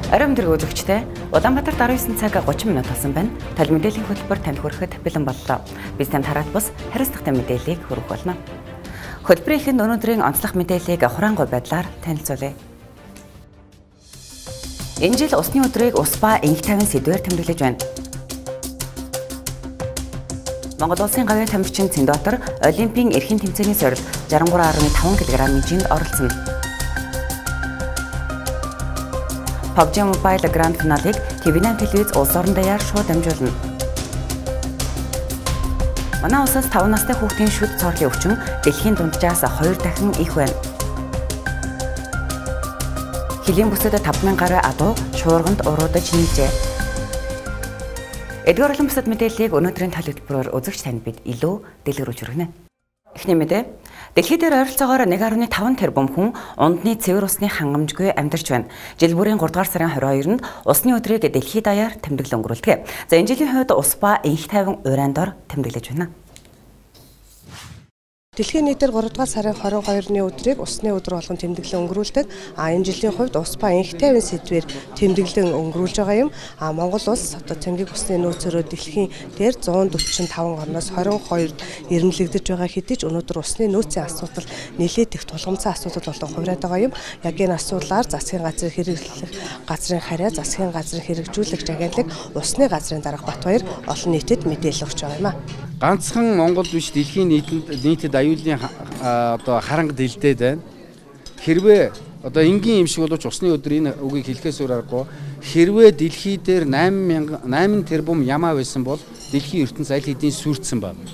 Оройн өдрийн үзэгчтэй Улаанбаатар 19 цаг 30 минут болсон байна. Тал мэдээллийн хөтөлбөр танд хүрэхэд бэлэн боллоо. Biz танд хараат бус хариуцлагатай мэдээллийг хүргэх болно. Хөтөлбөрийн эхэнд өнөөдрийн онцлог мэдээллийг хураангуй байдлаар танилцуулъя. Энэ жил усны өдрийг ус ба энх тайван сэдвээр тэмдэглэж байна. Монгол улсын гавьяа тамирчин Цэндбаатар Олимпийн эрхийн тэмцээний сорилт 63.5 кг-ийн жинд оролцсон. PUBG Mobile Grand Finale-ыг TV8 телевиз улс орон даяар шууд дамжуулна. Манай улсаас 5 настай хүүхдийн шүд цоорлын өвчин дэлхийн дунджаас 2 дахин их байна. Хөлийн бүсэд 5,000 гаруй адуу шуурганд уруудаж нийжээ. Эдгээр олон бусад мэдээллийг өнөөдрийн тал хөтөлбөрөөр үзэгч танд бид илүү дэлгэрүүлж хүргэнэ. Эхний мэдээ. Дэлхий дээр ойролцоогоор 1.5 тэрбум хүн ундны цэвэр усны хангамжгүй амьдарч байна. Жил бүрийн 3 дугаар сарын 22-нд усны өдрийг дэлхий даяар тэмдэглэн өнгөрүүлдэг. За энэ жилийн хувьд ус ба энх тайван уран дор тэмдэглэж байна. Дэлхийн нийтээр 3 дугаар сарын 22-ны өдрийг усны өдөр болгон тэмдэглэн өнгөрүүлдэг. Энэ жилийн хувьд ус ба энх тайван сэдвээр тэмдэглэн өнгөрүүлж байгаа юм. Монгол улс одоо цэнгийг усны нөөцөөрөө дэлхийн дээр 145 орноос 22-д ирэмлэгдэж байгаа хэдий ч өнөөдөр усны нөөцийн асуудал нэлээд их тулгымцсан асуудал болон хувраад байгаа юм. Яг энэ асуудлаар засгийн газрын хэрэглэх газрын харьяа, засгийн газрын хэрэгжүүлэгч агентлаг, усны газрын дарга Батбаяр олон нийтэд мэдээлэл өгч байгаа юм. Ганцхан Монгол биш дэлхийн нийтэд аюулын одоо харанга дэлдээд байна. Хэрвээ одоо энгийн юм шиг боловч усны өдөр энэ үгийг хэлэхээс өөр аргагүй. Хэрвээ дэлхий дээр 8 тэрбум ямаа байсан бол дэлхийн ертөнц аль хэдийн сүрдсэн байна.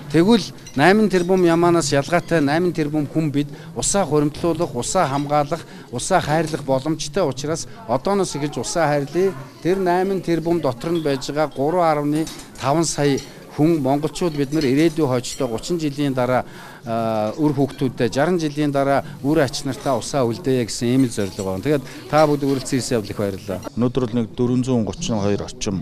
Тэгвэл 8 тэрбум ямаанаас ялгаатай 8 тэрбум хүн бид усаа хуримтлуулах, усаа хамгаалах, усаа хайрлах боломжтой учраас одооноос эхэлж усаа хайрлая. Тэр 8 тэрбум дотор нь байж байгаа 3.5 сая хүн монголчууд бид нар ирээдүйн хойчтой 30 жилийн дараа үр хүүхдүүдтэй 60 жилийн дараа үр ач нартаа усаа үлдээе гэсэн ийм л зорилго байна. Тэгээд та бүд үргэлжлэн ирсэн явдал их баярлалаа. Өнөөдөр бол нэг 432 орчим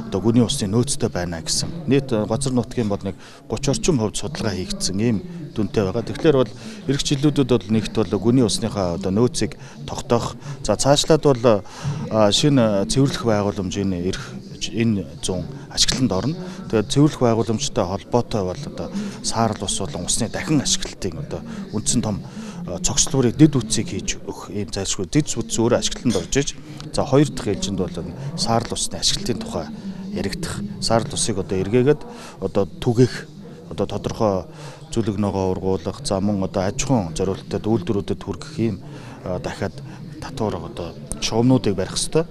одоо гүний усны нөөцтэй байна гэсэн. Нийт газар нутгийн бол нэг 30 орчим хувьд судалгаа хийгдсэн ийм дүнтэй байгаа. Тэгэхээр бол эх жилүүдэд бол нэгт бол гүний усныхаа одоо нөөцийг тогтоох. За цаашлаад бол шинэ цэвэрлэх байгууламжийн энэ 100 ашиглалтанд орно. Тэгээд цэвэрлэх байгууламжтай холбоотой бол одоо саарл ус болон усны дахин ашиглалтын одоо үндсэн том цогцлуурыг дэд үтсийг хийж өгөх ийм зайлшгүй дэд үтс өөрөө ашиглалтанд орж иж. За хоёр дахь ээлжинд бол саарл усны ашиглалтын тухай яригдах. Саарл усыг одоо эргээгээд одоо түгээх одоо тодорхой зүлэг ногоо ургуулах, за мөн одоо аж ахуйн зориулалтад үйлдвэрүүдэд хүргэх ийм дахиад татвар одоо шугамнуудыг барих ёстой.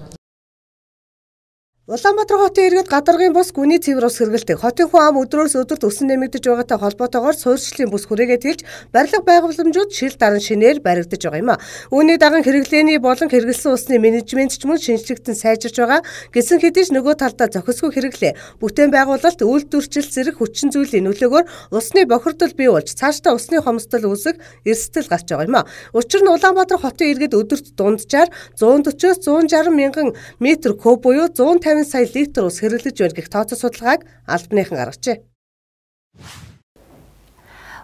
Улаанбаатар хотын иргэд гадаргын бус гүний цэвэр ус хэрэглэдэг. Хотын хүн ам өдрөөс өдөрт өсөн нэмэгдэж байгаатай холбоотойгоор суурьшлийн бус хүрээгээ тэлж барилга байгууламжууд шил даран шинээр баригдаж байгаа юм. Үүний даган хэрэглээний болон хэрэглэсэн усны менежмент ч мөн шинжлэхтэн сайжирч байгаа. Гэсэн хэдий ч нөгөө талдаа зохисгүй хэрэглээ, бүтээн байгуулалт, үйлдвэрчилт зэрэг хүчин зүйлийн нөлөөгөөр усны бохирдол бий болж цаашдаа усны хомсдол үүсэх эрсдэл гарч байгаа юм. Учир нь Улаанбаатар хотын иргэд өдөрт дунджаар 140-160 мянган метр куб буюу 150 сая литр ус хэрэглэж байна гэх тооцоо судалгааг албаныхан гаргажээ.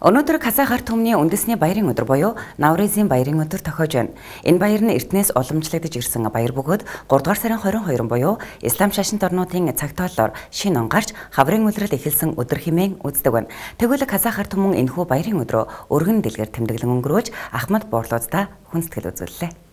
Өнөөдөр Казах ард түмний үндэсний баярын өдөр буюу Навризийн баярын өдөр тохиож байна. Энэ баяр нь Эрдэнэс уламжлагдж ирсэн баяр бөгөөд 3 дугаар сарын 22 буюу Ислам шашинт орнуудын цагтооллоор шинэ он гарч хаврын улирал эхэлсэн өдөр хэмээн үздэг байна. Тэгвэл Казах ард түмэн энэхүү баярын өдрөө өргөн дэлгэр тэмдэглэн өнгөрөөж Ахмад Буурлуудаа хүндэтгэл үзүүллээ.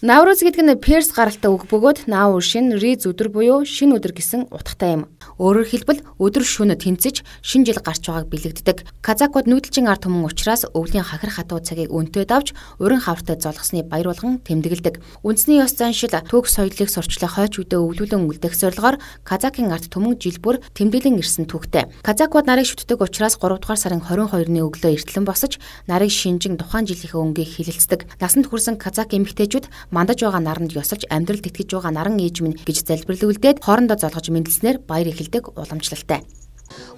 Навруз гэдэг нь перс гаралтай үг бөгөөд Нав шин Риз өдөр буюу шинэ өдөр гэсэн утгатай юм. Өөрөөр хэлбэл өдөр шөнө тэнцэж шинэ жил гарч байгааг бэлэгддэг. Казакууд нүүдэлчин ард түмэн учраас өвлийн хахир хатуу цагийг өнтөөд авч урин хавртай золгосны баяр болгон тэмдэглэдэг. Үндэсний ёс заншил төг соёлыг сурчлах хойч үедээ өвлүүлэн үлдэх зорилгоор Казакийн ард түмэн жил бүр тэмдэглэн ирсэн түүхтэй. Казакууд нарыг шүтдэг учраас 3 дугаар сарын 22-ны өглөө эртлэн босож нарыг шинжин тухайн жилийнхээ өнгийг хилэлцдэг. Насанд хүрсэн Казак эмэгтэйчүүд мандаж байгаа наранд ёсолж амьдралд итгэж байгаа наран ээж минь гэж залбирлуулдээд хоорондоо золгож мэндэлснээр баяр эхэлдэг уламжлалтай.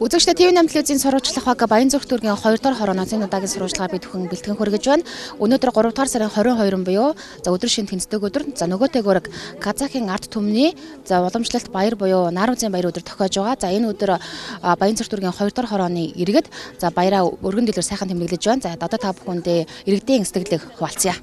Үзэгчдээ ТV8 телевизийн сурвалжлах баг Баянзүрх дүүргийн 2 дахь хорооноос энэ удаагийн сурвалжлагаа бид бүхэн бэлтгэн хүргэж байна. Өнөөдөр 3 дахь сарын 22 буюу өдөр шинэ тэнцдэг өдөр. Нөгөөтэйгөр Казахын ард түмний уламжлалт баяр буюу Наарузын баяр өдөр тохиож байгаа. Энэ өдөр Баянзүрх дүүргийн 2 дахь хорооны иргэд баяраа өргөн дэлгэр сайхан тэмдэглэж байна. Одоо та бүхэндээ иргэдийн сэтгэлийг хуваалцъя.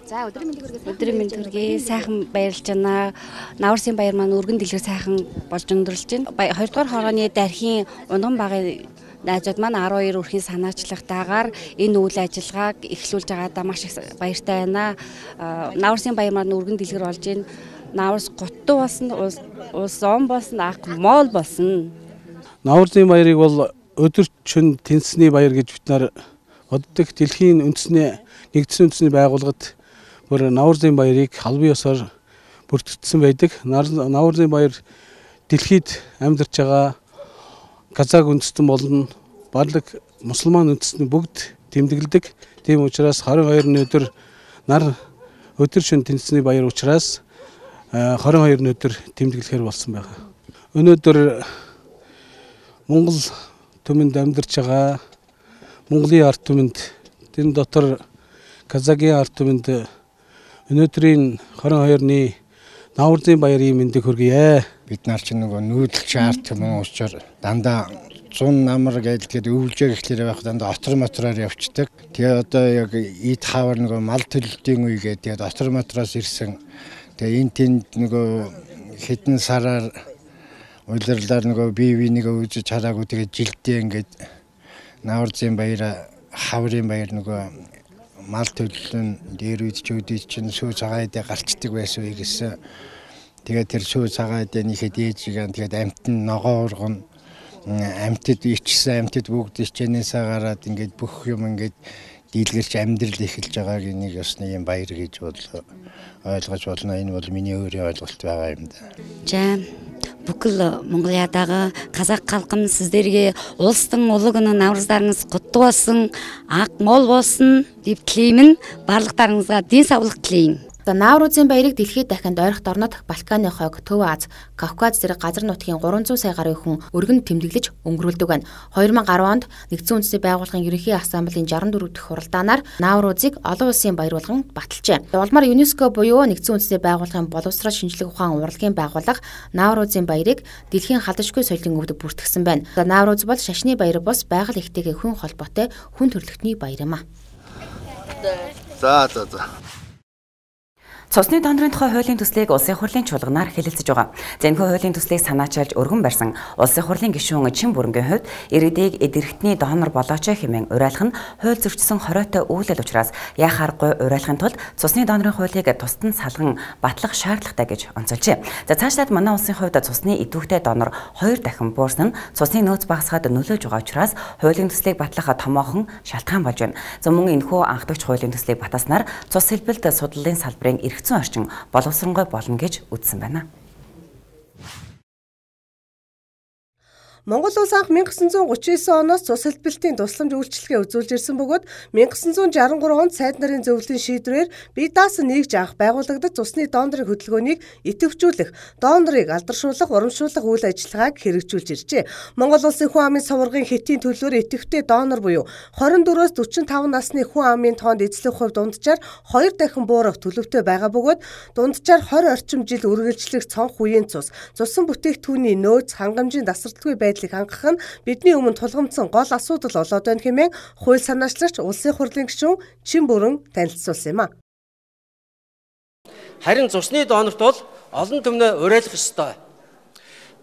За өдрийн мэнд хүргэе. Сайхан баярлж байна. Наурсын баяр маань өргөн дэлгэр сайхан болж өндөрлж байна. 2 дугаар хорооны дархийн унган багын найзууд маань 12 өрхийн санаачлагтайгаар энэ үйл ажиллагааг эхлүүлж байгаадаа маш их баяртай байна. Наурсын баяр маань өргөн дэлгэр болж байна. Наурс готтой болсон, улс он болсон, ах моол болсон. Наурсын баярыг бол өдөрчн тэнцсний баяр гэж бид нар боддог. Дэлхийн нэгдсэн үндэсний байгууллагад бүр Наурсын баярыг албан ёсоор бүртгэгдсэн байдаг. Наурсын баяр дэлхийд амьдарч байгаа Казак үндэстэн болон барлаг мусульман үндэстэн бүгд тэмдэглэдэг. Тийм учраас 22-ны өдөр өдөр шөнө тэнцсний баяр учраас 22-ны өдөр тэмдэглэхээр болсон байгаа. Өнөөдөр Монгол түмэнд амьдарч байгаа Монголын ард түмэнд тэр дотор Казакийн ард түмэнд өнөөдрийн 22-ны Наурсын баярын мэндийг хүргье. Бид нар ч нөгөө нүүдэлч ард түмэн уучаар дандаа 100 намар гэдэг өвлжээ гэхлээр байх дандаа отор мотороор явцдаг. Тэгээ одоо яг ид хавар нөгөө мал төлөлтийн үе гэдэг отор мотороос ирсэн. Тэгээ энэ тэнд нөгөө хэдэн сараар улирлаар нөгөө бие бинийгээ үзэж хараагүй тэгээ жилдээ ингээд Наурсын баяр хаврын баяр нөгөө мал төлөлн дээр үед ч өдөө чинь сүү цагаан эдэ гарчдаг байсан үе гэсэн. Тэгээд тэр сүү цагаан эдэ нэхэд ээжигээ тэгээд амтны ногоо урган амтд ичсэн амтд бүгд ичэнээсээ гараад ингээд бүх юм ингээд дийлгэрч амьдрал эхэлж байгааг нэг ёсны юм баяр гэж ойлгож болно. Энэ бол миний өөрийн ойлголт байгаа юм да. За бүкэл Монголиадағы қазақ халқын сіздерге ұлыстың ұлы күні наурыздарыңыз құтты болсын, ақ мол болсын деп тілеймін. Барлықтарыңызға денсаулық тілеймін. Наурузын баярыг дэлхийд дахинд ойрхон орнод Балканы хойг, Төв Аз, Кавказ зэрэг газар нутгийн 300 сая гаруй хүн өргөн тэмдэглэж өнгөрүүлдэг байна. 2010 онд Нэгдсэн үндэсний байгууллагын ерөнхий ассамблеийн 64 дахь хуралдаанаар Наурузыг олон улсын баяр болгон баталжээ. Улмаар ЮНЕСКО буюу Нэгдсэн үндэсний байгууллагын боловсрол шинжилгээ ухаан урлагийн байгууллага Наурузын баярыг дэлхийн халдшгүй соёлын өвдөг бүртгэсэн байна. Наурuz бол шашны баяр бус байгаль ихтэйгээ хүн холбоотой хүн төрөлхтний баяр юм а. За. Цусны донорын тухай хуулийн төслийг улсын хурлын чуулганаар хэлэлцэж байгаа. Зэнхүү хуулийн төслийг санаачилж өргөн барьсан улсын хурлын гишүүн Чин бүрэнгийн хувьд иргэдийг эдэрхтний донор болооч хэмээн уриалах нь хууль зөрчсөн хоройтой үйлдэл учраас яхааргүй уриалахын тулд цусны донорын хуулийг тусад нь салган батлах шаардлагатай гэж онцолжээ. За цаашлаад манай улсын хувьд цусны идэвхтэй донор 2 дахин буурсан нь цусны нөөц багасгаад нөлөөж байгаа учраас хуулийн төслийг батлах томоохон шалтгаан болж байна. За мөн энэхүү анхдагч хуулийн төслийг батаснаар цус хэлбэлт судлалын салбарын эргэцэн орчин боловсронгой болно гэж үзсэн байна. Монгол улс анх 1939 оноос цус хэлбэлтийн тусламж үйлчилгээ үзүүлж ирсэн бөгөөд 1963 онд сайд нарын зөвлөлийн шийдвэрээр бие даасан нэгж анх байгуулагдаж цусны донорын хөдөлгөөнийг идэвхжүүлэх, донорыг алдаршуулах, урамшуулах үйл ажиллагааг хэрэгжүүлж иржээ. Монгол улсын хүн амын соваргын хэтийн төлөөр идэвхтэй донор буюу 24-өөс 45 насны хүн амын тоонд эзлэх хувь дунджаар 2 дахин буурах төлөвтэй байгаа бөгөөд дунджаар 20 орчим жил үргэлжлэх цонх үеийн цусан бүтээгдэхүүний нөөц хангамжийн тасралтгүй хангах нь бидний өмнө тулгамдсан гол асуудал болоод байна хэмээн хууль санаачлагч улсын хурлын гишүүн Чин бүрэн танилцуулсан юм а. Харин цусны донорт бол олон түмнээ уриалах ёстой.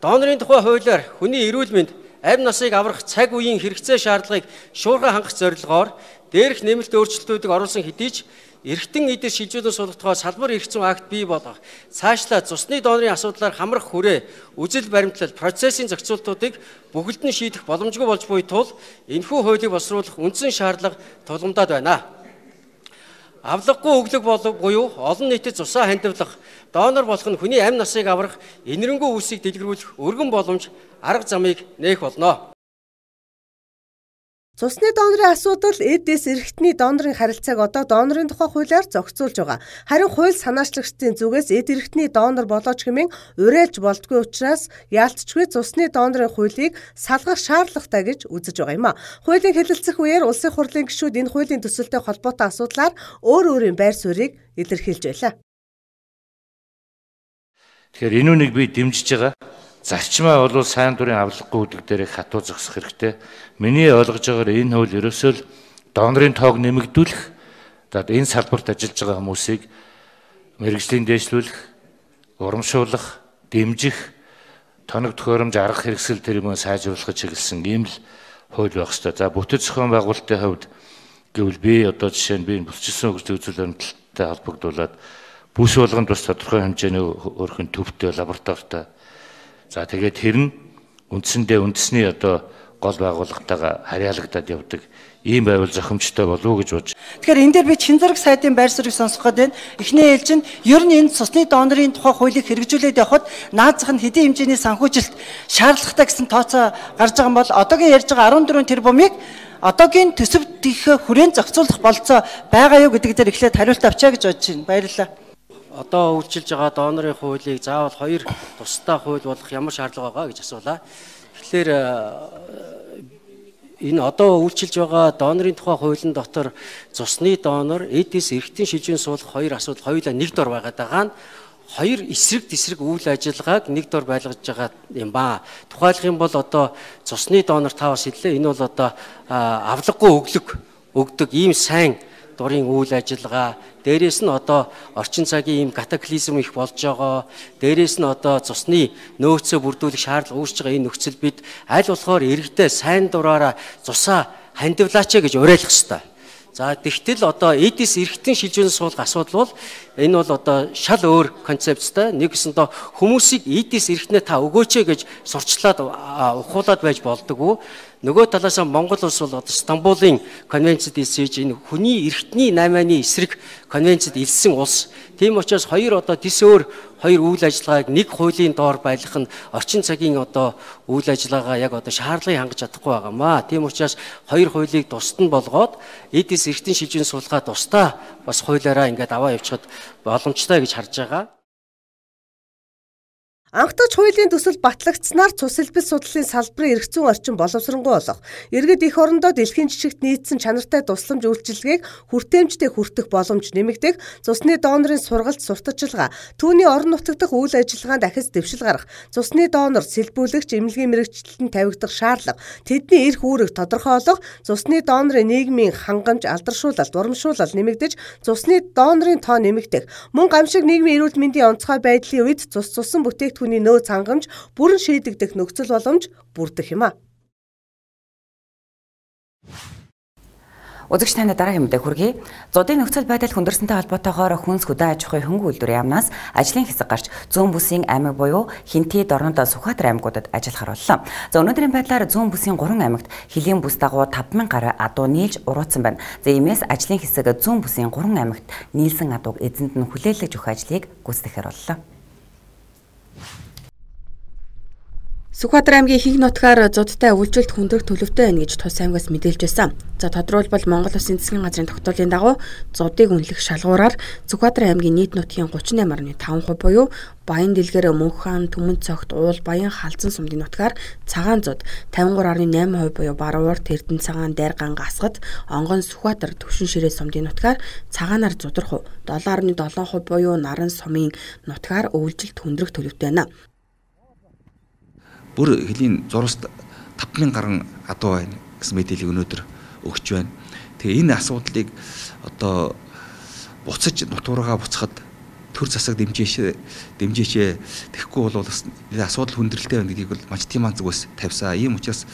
Донорын тухай хуулиар хүний эрүүл мэнд, амь насыг аврах цаг үеийн хэрэгцээ шаардлагыг шуурхай хангах зорилгоор дээрх нэмэлт өөрчлөлтүүдийг оруулсан хэдий ч эргэтэн эдэр шилжүүлэн суулгахтаа салбар эрх зүйн акт бий болгох, цаашлаа цусны донорын асуудлаар хамрах хүрээ, үжил баримтлал, процессын зохицуултуудыг бүгд нь шийдэх боломжгүй болж буй тул энэхүү хуулийг боловсруулах үндсэн шаардлага тулгамдаад байна. Авлаггүй өглөг буюу олон нийтэд цусаа хандивлах, донор болох нь хүний амь насыг аврах, энэрэнгүй үлсийг дэлгэрүүлэх өргөн боломж арга замыг нээх болно. Цусны донорын асуудал эдээс эрхтний донорын харилцааг одоо донорын тухай хуулиар зохицуулж байгаа. Харин хууль санаачлагчдын зүгээс эд эрхтний донор болооч хэмээн уриалж болдгүй учраас яалтчгүй цусны донорын хуулийг салгах шаардлагатай гэж үзэж байгаа юм а. Хуулийн хэлэлцэх үеэр улсын хурлын гишүүд энэ хуулийн төсөлтэй холбоотой асуудлаар өөр өөрийн байр суурийг илэрхийлж байлаа. Тэгэхээр энэ үнийг би дэмжиж байгаа. Зарчмаа бол сайн дурын авлаггүй үдэг дээрээ хатуу зогсох хэрэгтэй. Миний ойлгож байгаагаар энэ хууль ерөөсөө л донорын тоог нэмэгдүүлэх, энэ салбарт ажиллаж байгаа хүмүүсийг мэргэжлийн дэвшлүүлэх, урамшуулах, дэмжих, тоног төхөөрөмж арга хэрэгсэл тэрийг сайжруулах чиглэсэн ийм л хууль байх ёстой. За бүтэц зохион байгуулалтын хувьд гэвэл би одоо жишээ нь би бүсчилсэн хөгжлийн үзүүл баримталтай холбогдуулаад бүс болгонд бас тодорхой хэмжээний өөрхөн төвтэй лабораторитой. За тэгээд тэр нь үндсэндээ үндэсний одоо гол байгууллагатайгаа харьяалагдаад явдаг ийм байвал зохимжтой болов уу гэж бодож. Тэгэхээр энэ дээр би Чинзараг сайдын байр суурийг сонсох гээд байна. Эхний ээлжинд ер нь энэ цусны донорын тухай хуулийг хэрэгжүүлээд явхад наазах нь хэдийн хэмжээний санхүүжилт шаардлагатай гэсэн тооцоо гарч байгаа бол одоогийн ярьж байгаа 14 тэрбумыг одоогийн төсөвт их хүрээнд зохицуулах болцоо байгаа юу гэдэг дээр эхлээд хариулт авчаа гэж бодож байна. Баярлалаа. Одоо үйлчилж байгаа донорын хуулийг заавал хоёр тусдаа хууль болох ямар шаардлага байгаа гэж асуулаа. Тэгэхээр энэ одоо үйлчилж байгаа донорын тухай хуулийн дотор цусны донор, эдис эрхтэн шилжүүн суулгах хоёр асуудал хоёулаа нэг дор байгаад байгаа нь хоёр эсрэг тесрэг үйл ажиллагааг нэг дор байлгаж байгаа юм ба. Тухайлах юм бол одоо цусны донор та бас хэллээ. Энэ бол одоо авлаггүй өгдөг ийм сайн дурын үйл ажиллагаа. Дээрээс нь одоо орчин цагийн ийм катаклизм их болж байгаа. Дээрээс нь одоо цусны нөөцөө бүрдүүлэх шаардлага үүсэж байгаа энэ нөхцөл бид аль болохоор иргэдээ сайн дураараа цусаа хандивлаач гэж уриалах ёстой. За тэгтэл одоо эдис эрхтэн шилжүүн суулгах асуудал бол энэ бол одоо шал өөр концепттэй. Нэгсэндээ хүмүүсийг эдис эрхтнээ та өгөөч гэж сурчлаад ухуулаад байж болдоггүй. Нөгөө талаас нь Монгол улс бол одоо Стамбулын конвенцэд илсэж энэ хүний эрхтний 8-ны эсрэг конвенцэд илсэн улс. Тийм учраас хоёр одоо тис өөр хоёр үйл ажиллагааг нэг хуулийн доор байлгах нь орчин цагийн одоо үйл ажиллагаа яг одоо шаардлагыг хангаж чадахгүй байгаамаа. Тийм учраас хоёр хуулийг тусад нь болгоод эдис эрхтэн шилжүүн суулгаа тусдаа бас хуулиараа ингээд аваа явчихад боломжтой гэж харж байгаа. Анхдагч хуулийн төсөл батлагдсанаар цус элбэг судлалын салбарын эрх зүйн орчин боловсронгуй болох. Иргэд их орондоо дэлхийн жишгт нийцсэн чанартай тусламж үйлчилгээг хүртээмжтэй хүртэх боломж нэмэгдэх, цусны донорын сургалт сурталчилгаа, түүний орон нутаг дахь үйл ажиллагаанд дахиж дэвшил гарах, цусны донор сэлбүүлэгч эмнэлгийн мэрэгчлэлтэнд тавигдах шаардлага, тэдний эрх үүрэг тодорхойлох, цусны донорын нийгмийн хангамж, алдаршуулалт, урамшуулал нэмэгдэж, цусны донорын тоо нэмэгдэх, мөн гамшиг нийгмийн эрүүл мэндийн онцгой байдлын үед цусан бүтээгдэхүүн хүний нөөц хангамж бүрэн шийдэгдэх нөхцөл боломж бүрдэх юм а. Үзэгч танд дараагийн мэдээ хүргэе. Зодын нөхцөл байдал хүндэрсэнтэй холбоотойгоор хүнс хөдөө аж ахуйн хөнгө үйлдвэрийн яамнаас ажлын хэсэг гарч зүүн бүсийн аймаг буюу Хинти, Дорнод, Сүхбаатар аймагуудад ажиллахаар боллоо. За өнөөдрийн байдлаар зүүн бүсийн 3 аймагт хөлийн бүс дагуу 5000 гаруй адуу нийлж уруудсан байна. За иймээс ажлын хэсэг зүүн бүсийн 3 аймагт нийлсэн адууг эзэнд нь хүлээлгэж өгөх ажлыг гүйцэтгэхээр боллоо. Сүхбаатар аймгийн ихэнх нутгаар зодтой үйлчлэлт хүндрэх төлөвтэй байна гэж тус аймгаас мэдээлж байсан. За тодорхойлбол Монгол Улсын засгийн газрын тогтоолын дагуу зодыг үнэлэх шалгуураар Сүхбаатар аймгийн нийт нутгийн 38.5% буюу Баян дэлгэр, Мөнххан, Түмэн цогт, Уул, Баян халзан сумдын нутгаар цагаан зод 53.8% буюу Баруур, Тэрдэн цагаан, Дайрган, Гасгад, Онгон, Сүхбаатар, Төвшин ширээ сумдын нутгаар цагаанаар зудрах 7.7% буюу Наран сумын нутгаар үйлчлэлт хүндрэх төлөвтэй байна. Бүр хөлийн зураас 5000 гаруй адуу байна гэсэн мэдээллийг өнөөдөр өгч байна. Тэгээ энэ асуудлыг одоо буцаж нутгаараа буцахад төр засаг дэмжээч тэгэхгүй бол бас асуудал хүндрэлтэй байна гэдгийг бол маш тийм зүгээс тавьсан. Ийм учраас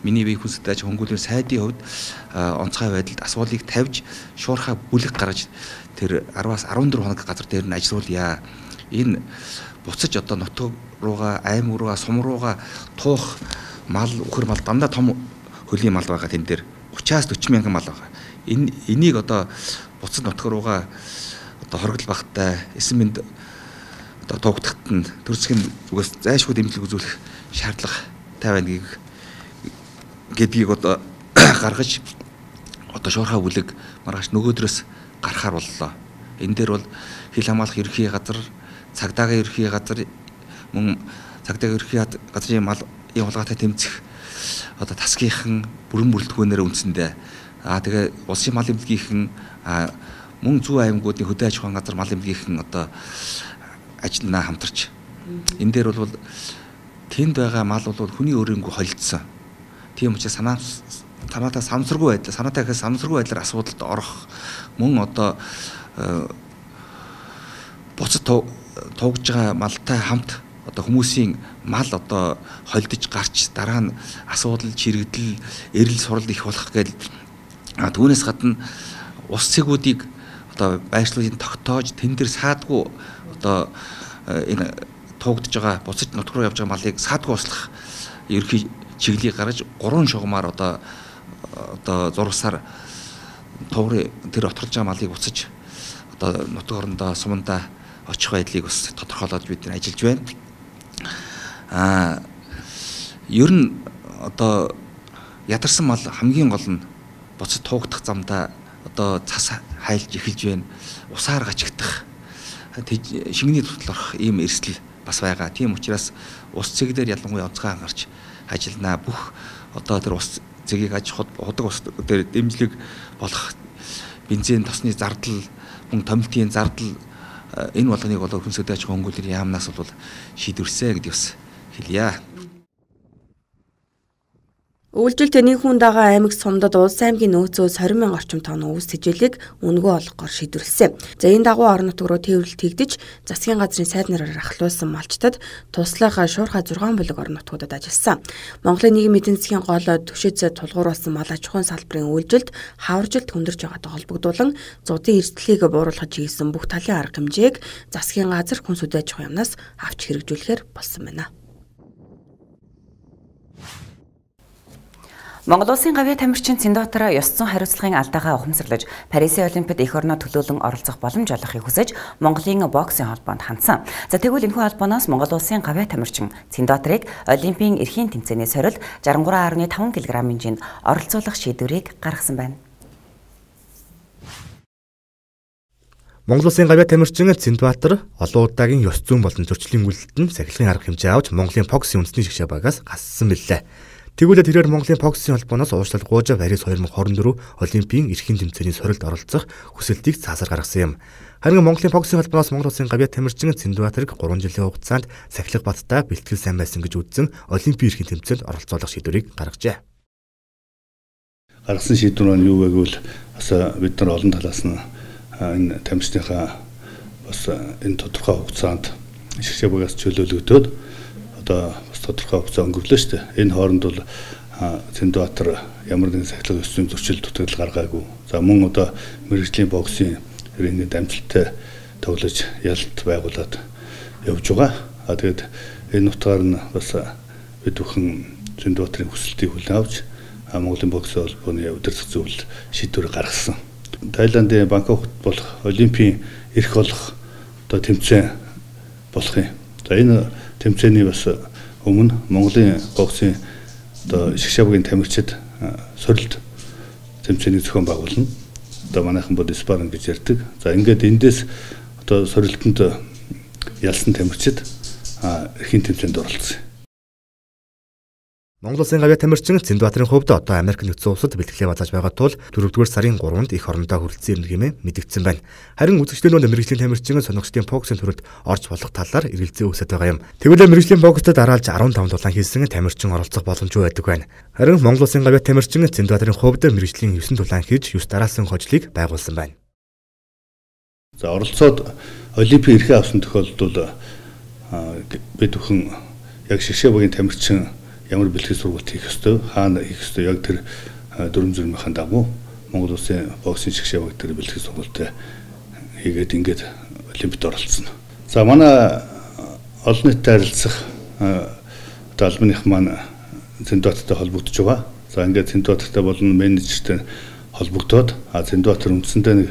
миний бие хүнстэй хөнгөлөөр сайдын хувьд онцгой байдалд асуудлыг тавьж шуурхай бүлэг гаргаж тэр 10-аас 14 хоног газар дээр нь ажиллуулъя. Энэ буцаж одоо нутаг руугаа, аймаг руугаа, сум руугаа туух мал, үхэр мал дандаа том хөлийн мал байгаа тэн дээр 30-аас 40 мянган мал байгаа. Энийг одоо буцаж нутаг руугаа одоо хоригдол багтаа эсэмэнд одоо тугдахт нь төр засгийн зүгээс зайлшгүй дэмжлэг үзүүлэх шаардлагатай байна гэдгийг одоо гаргаж одоо шуурхай бүлэг маргааш нөгөөдрөөс гарахаар боллоо. Энэ дээр бол хил хамгаалах ерхий газар, цагдаагийн ерхий газар, мөн цагдаагийн ерхий газрын мал ийм хулгайтай тэмцэх одоо тасгийнхан бүрэн бүрэлдэхүүнээр үндсэндээ тэгээ улсын мал эмнэлгийнхэн мөн зүүн аймагуудын хөдөө аж ахуйн газар мал эмнэлгийнхэн одоо ажилланаа хамтарч энэ дээр бол тэнд байгаа мал бол хүний өөрөнгөө холилдсон. Тийм учраас санаатай самсаргүй байдлаар асуудалд орох мөн одоо буцад туугж байгаа малтай хамт одоо хүмүүсийн мал одоо холдож гарч дараа нь асуудал, чирэгдэл, эрэл сурал их болох гээл түүнээс гадна ус цэгүүдийг одоо байршлуудын тогтоож тэн дээр саадгүй одоо энэ туугдж байгаа буцаж нутг руу явж байгаа малыг саадгүй услах ерхий чиглэлийг гаргаж 3 шугамаар одоо зурсаар туурын тэр оторлж байгаа малыг буцаж одоо нутг орондоо сумандаа очих байдлыг бас тодорхойлоод бид нар ажиллаж байна. Ер нь одоо ядарсан мал хамгийн гол нь буцаж туугдах замдаа одоо цас хайлж эхэлж байна. Усаар гачигдах шингэний тутал орох ийм эрсдэл бас байгаа. Тийм учраас ус цэглэр ялангуяа онцгой анхаарч ажилланаа. Бүх одоо тэр ус цэгийг аж худаг ус дээр дэмжлэг болох бензин тосны зардал, мөн томилтын зардал энэ болгоныг бол хүнсэд аж ахуйн хөнгөлөөр яамнаас бол шийдвэрсэ гэдэг бас хэлье. Үйлдэл Тэнийхүүн дагаа аймаг сумдад улс аймгийн нөөцөөс 20,000 орчим тонн өвс тэжээлийг үнэгүй олгохоор шийдвэрлэсэн. За энэ дагуу орон нутг руу тээвэрлэлт хийгдэж засгийн газрын сайд нараар ахлуулсан малчтад туслах шуурхай 6 бүлэг орон нутгуудад ажилласан. Монголын нийгмийн эдийн засгийн гол түвшиз тулгуурласан мал аж ахуйн салбарын үйлдэлд хаваржилт хүндэрж байгаатай холбогдуулан зуудын эрсдлийг бууруулахад чиглэсэн бүх талын арга хэмжээг засгийн газар хүнс үдэ аж ахуйн яамнаас авч хэрэгжүүлэхээр болсон байна. Монгол улсын гавьяа тамирчин Цэндбаатар ёс зүйн хариуцлагын алдаагаа ухамсарлаж Парисын Олимпиад эх орноо төлөөлөн оролцох боломж олгохыг хүсэж Монголын боксын холбоонд хандсан. За тэгвэл энэхүү холбооноос Монгол улсын гавьяа тамирчин Цэндбаатарыг Олимпийн эрхийн тэмцээний сорилт 63.5 кг-ын жинд оролцуулах шийдвэрийг гаргасан байна. Монгол улсын гавьяа тамирчин Цэндбаатар олон удаагийн ёс зүйн болон зөрчлийн үйлдэлд сахилгын арга хэмжээ авч Монголын боксын үндэсний шгшээ багаас гассан билээ. Тэгвэл тэрээр Монголын боксын холбооноос уучлал гуйж Парис 2024 Олимпийн эрхийн тэмцээний сорилт оролцох хүсэлтийг цаасаар гаргасан юм. Харин Монголын боксын холбооноос Монгол улсын гавьяа тамирчин Цэндбаатарыг 3 жилийн хугацаанд сахилга баттай бэлтгэл сайн байсан гэж үзсэн Олимпийн эрхийн тэмцээнд оролцоолох шийдвэрийг гаргажээ. Гаргасан шийдвэр нь юу вэ гэвэл бас бид нар олон талаас нь энэ тамирчныхаа бас энэ тодорхой хугацаанд шгшээ багаас чөлөөлөгдөөд одоо бас тодорхой хугацаа өнгөрлөө шүү дээ. Энэ хооронд бол Цэндбаатар ямар нэгэн сахилга ёс зүйн зөрчил дутагдал гаргаагүй. За мөн одоо мэргэжлийн боксын иргэний дамжуулалттай тоглож ялалт байгуулад явж байгаа. Тэгээд энэ утгаар нь бас бид бүхэн Цэндбаатарын хүсэлтийг хүлээн авч Монголын боксын холбооны удирдах зөвлөл шийдвэр гаргасан. Тайландын Бангкокт болох Олимпийн эрх олох одоо тэмцээн болох юм. За энэ тэмцээний бас өмнө Монголын боксын одоо шгшээгийн тамирчид сорилт тэмцээний зохион байгуулна. Одоо манайхан бол спарринг гэж ярьдаг. За ингээд эндээс одоо сорилтонд ялсан тамирчид эрхийн тэмцээнд оролцсон. Монгол улсын гавьяа тамирчин Цэндбаатарын хувьд одоо Америк нэгдсэн улсад бэлтгэлээ базааж байгаа тул 4-р сарын 3-нд эх орондоо хүрэлцэн ирнэ хэмээн мэдэгдсэн байна. Харин үзэгчдийн мэргэжлийн тамирчин сонирхчдын боксын төрөлд орж болох талаар эргэлзээ үүсэж байгаа юм. Тэгвэл мэргэжлийн боксд дараалж 15 дулаан хийсэн тамирчин оролцох боломжгүй байдаг байна. Харин Монгол улсын гавьяа тамирчин Цэндбаатарын хувьд мэргэжлийн 9 дулаан хийж 9 дараалсан хожлыг байгуулсан байна. За оролцоод Олимпийн эрхээ авсан тохиолдолд бид бүхэн яг шгшээ багийн тамирчин ямар бэлтгэл сургалт хийх ёстой, хаана хийх ёстой яг тэр дүрм зурмынхаа дагуу Монгол улсын боксын шгшээ баг тэр бэлтгэл сургалт хийгээд ингээд Олимпиад оролцсон. За манай олон нийтэд харилцах одоо албаных маань Цэндбаатартай холбогдож байгаа. За ингээд Цэндбаатартай болон менежертэй холбогдоод Цэндбаатар үндсэндээ нэг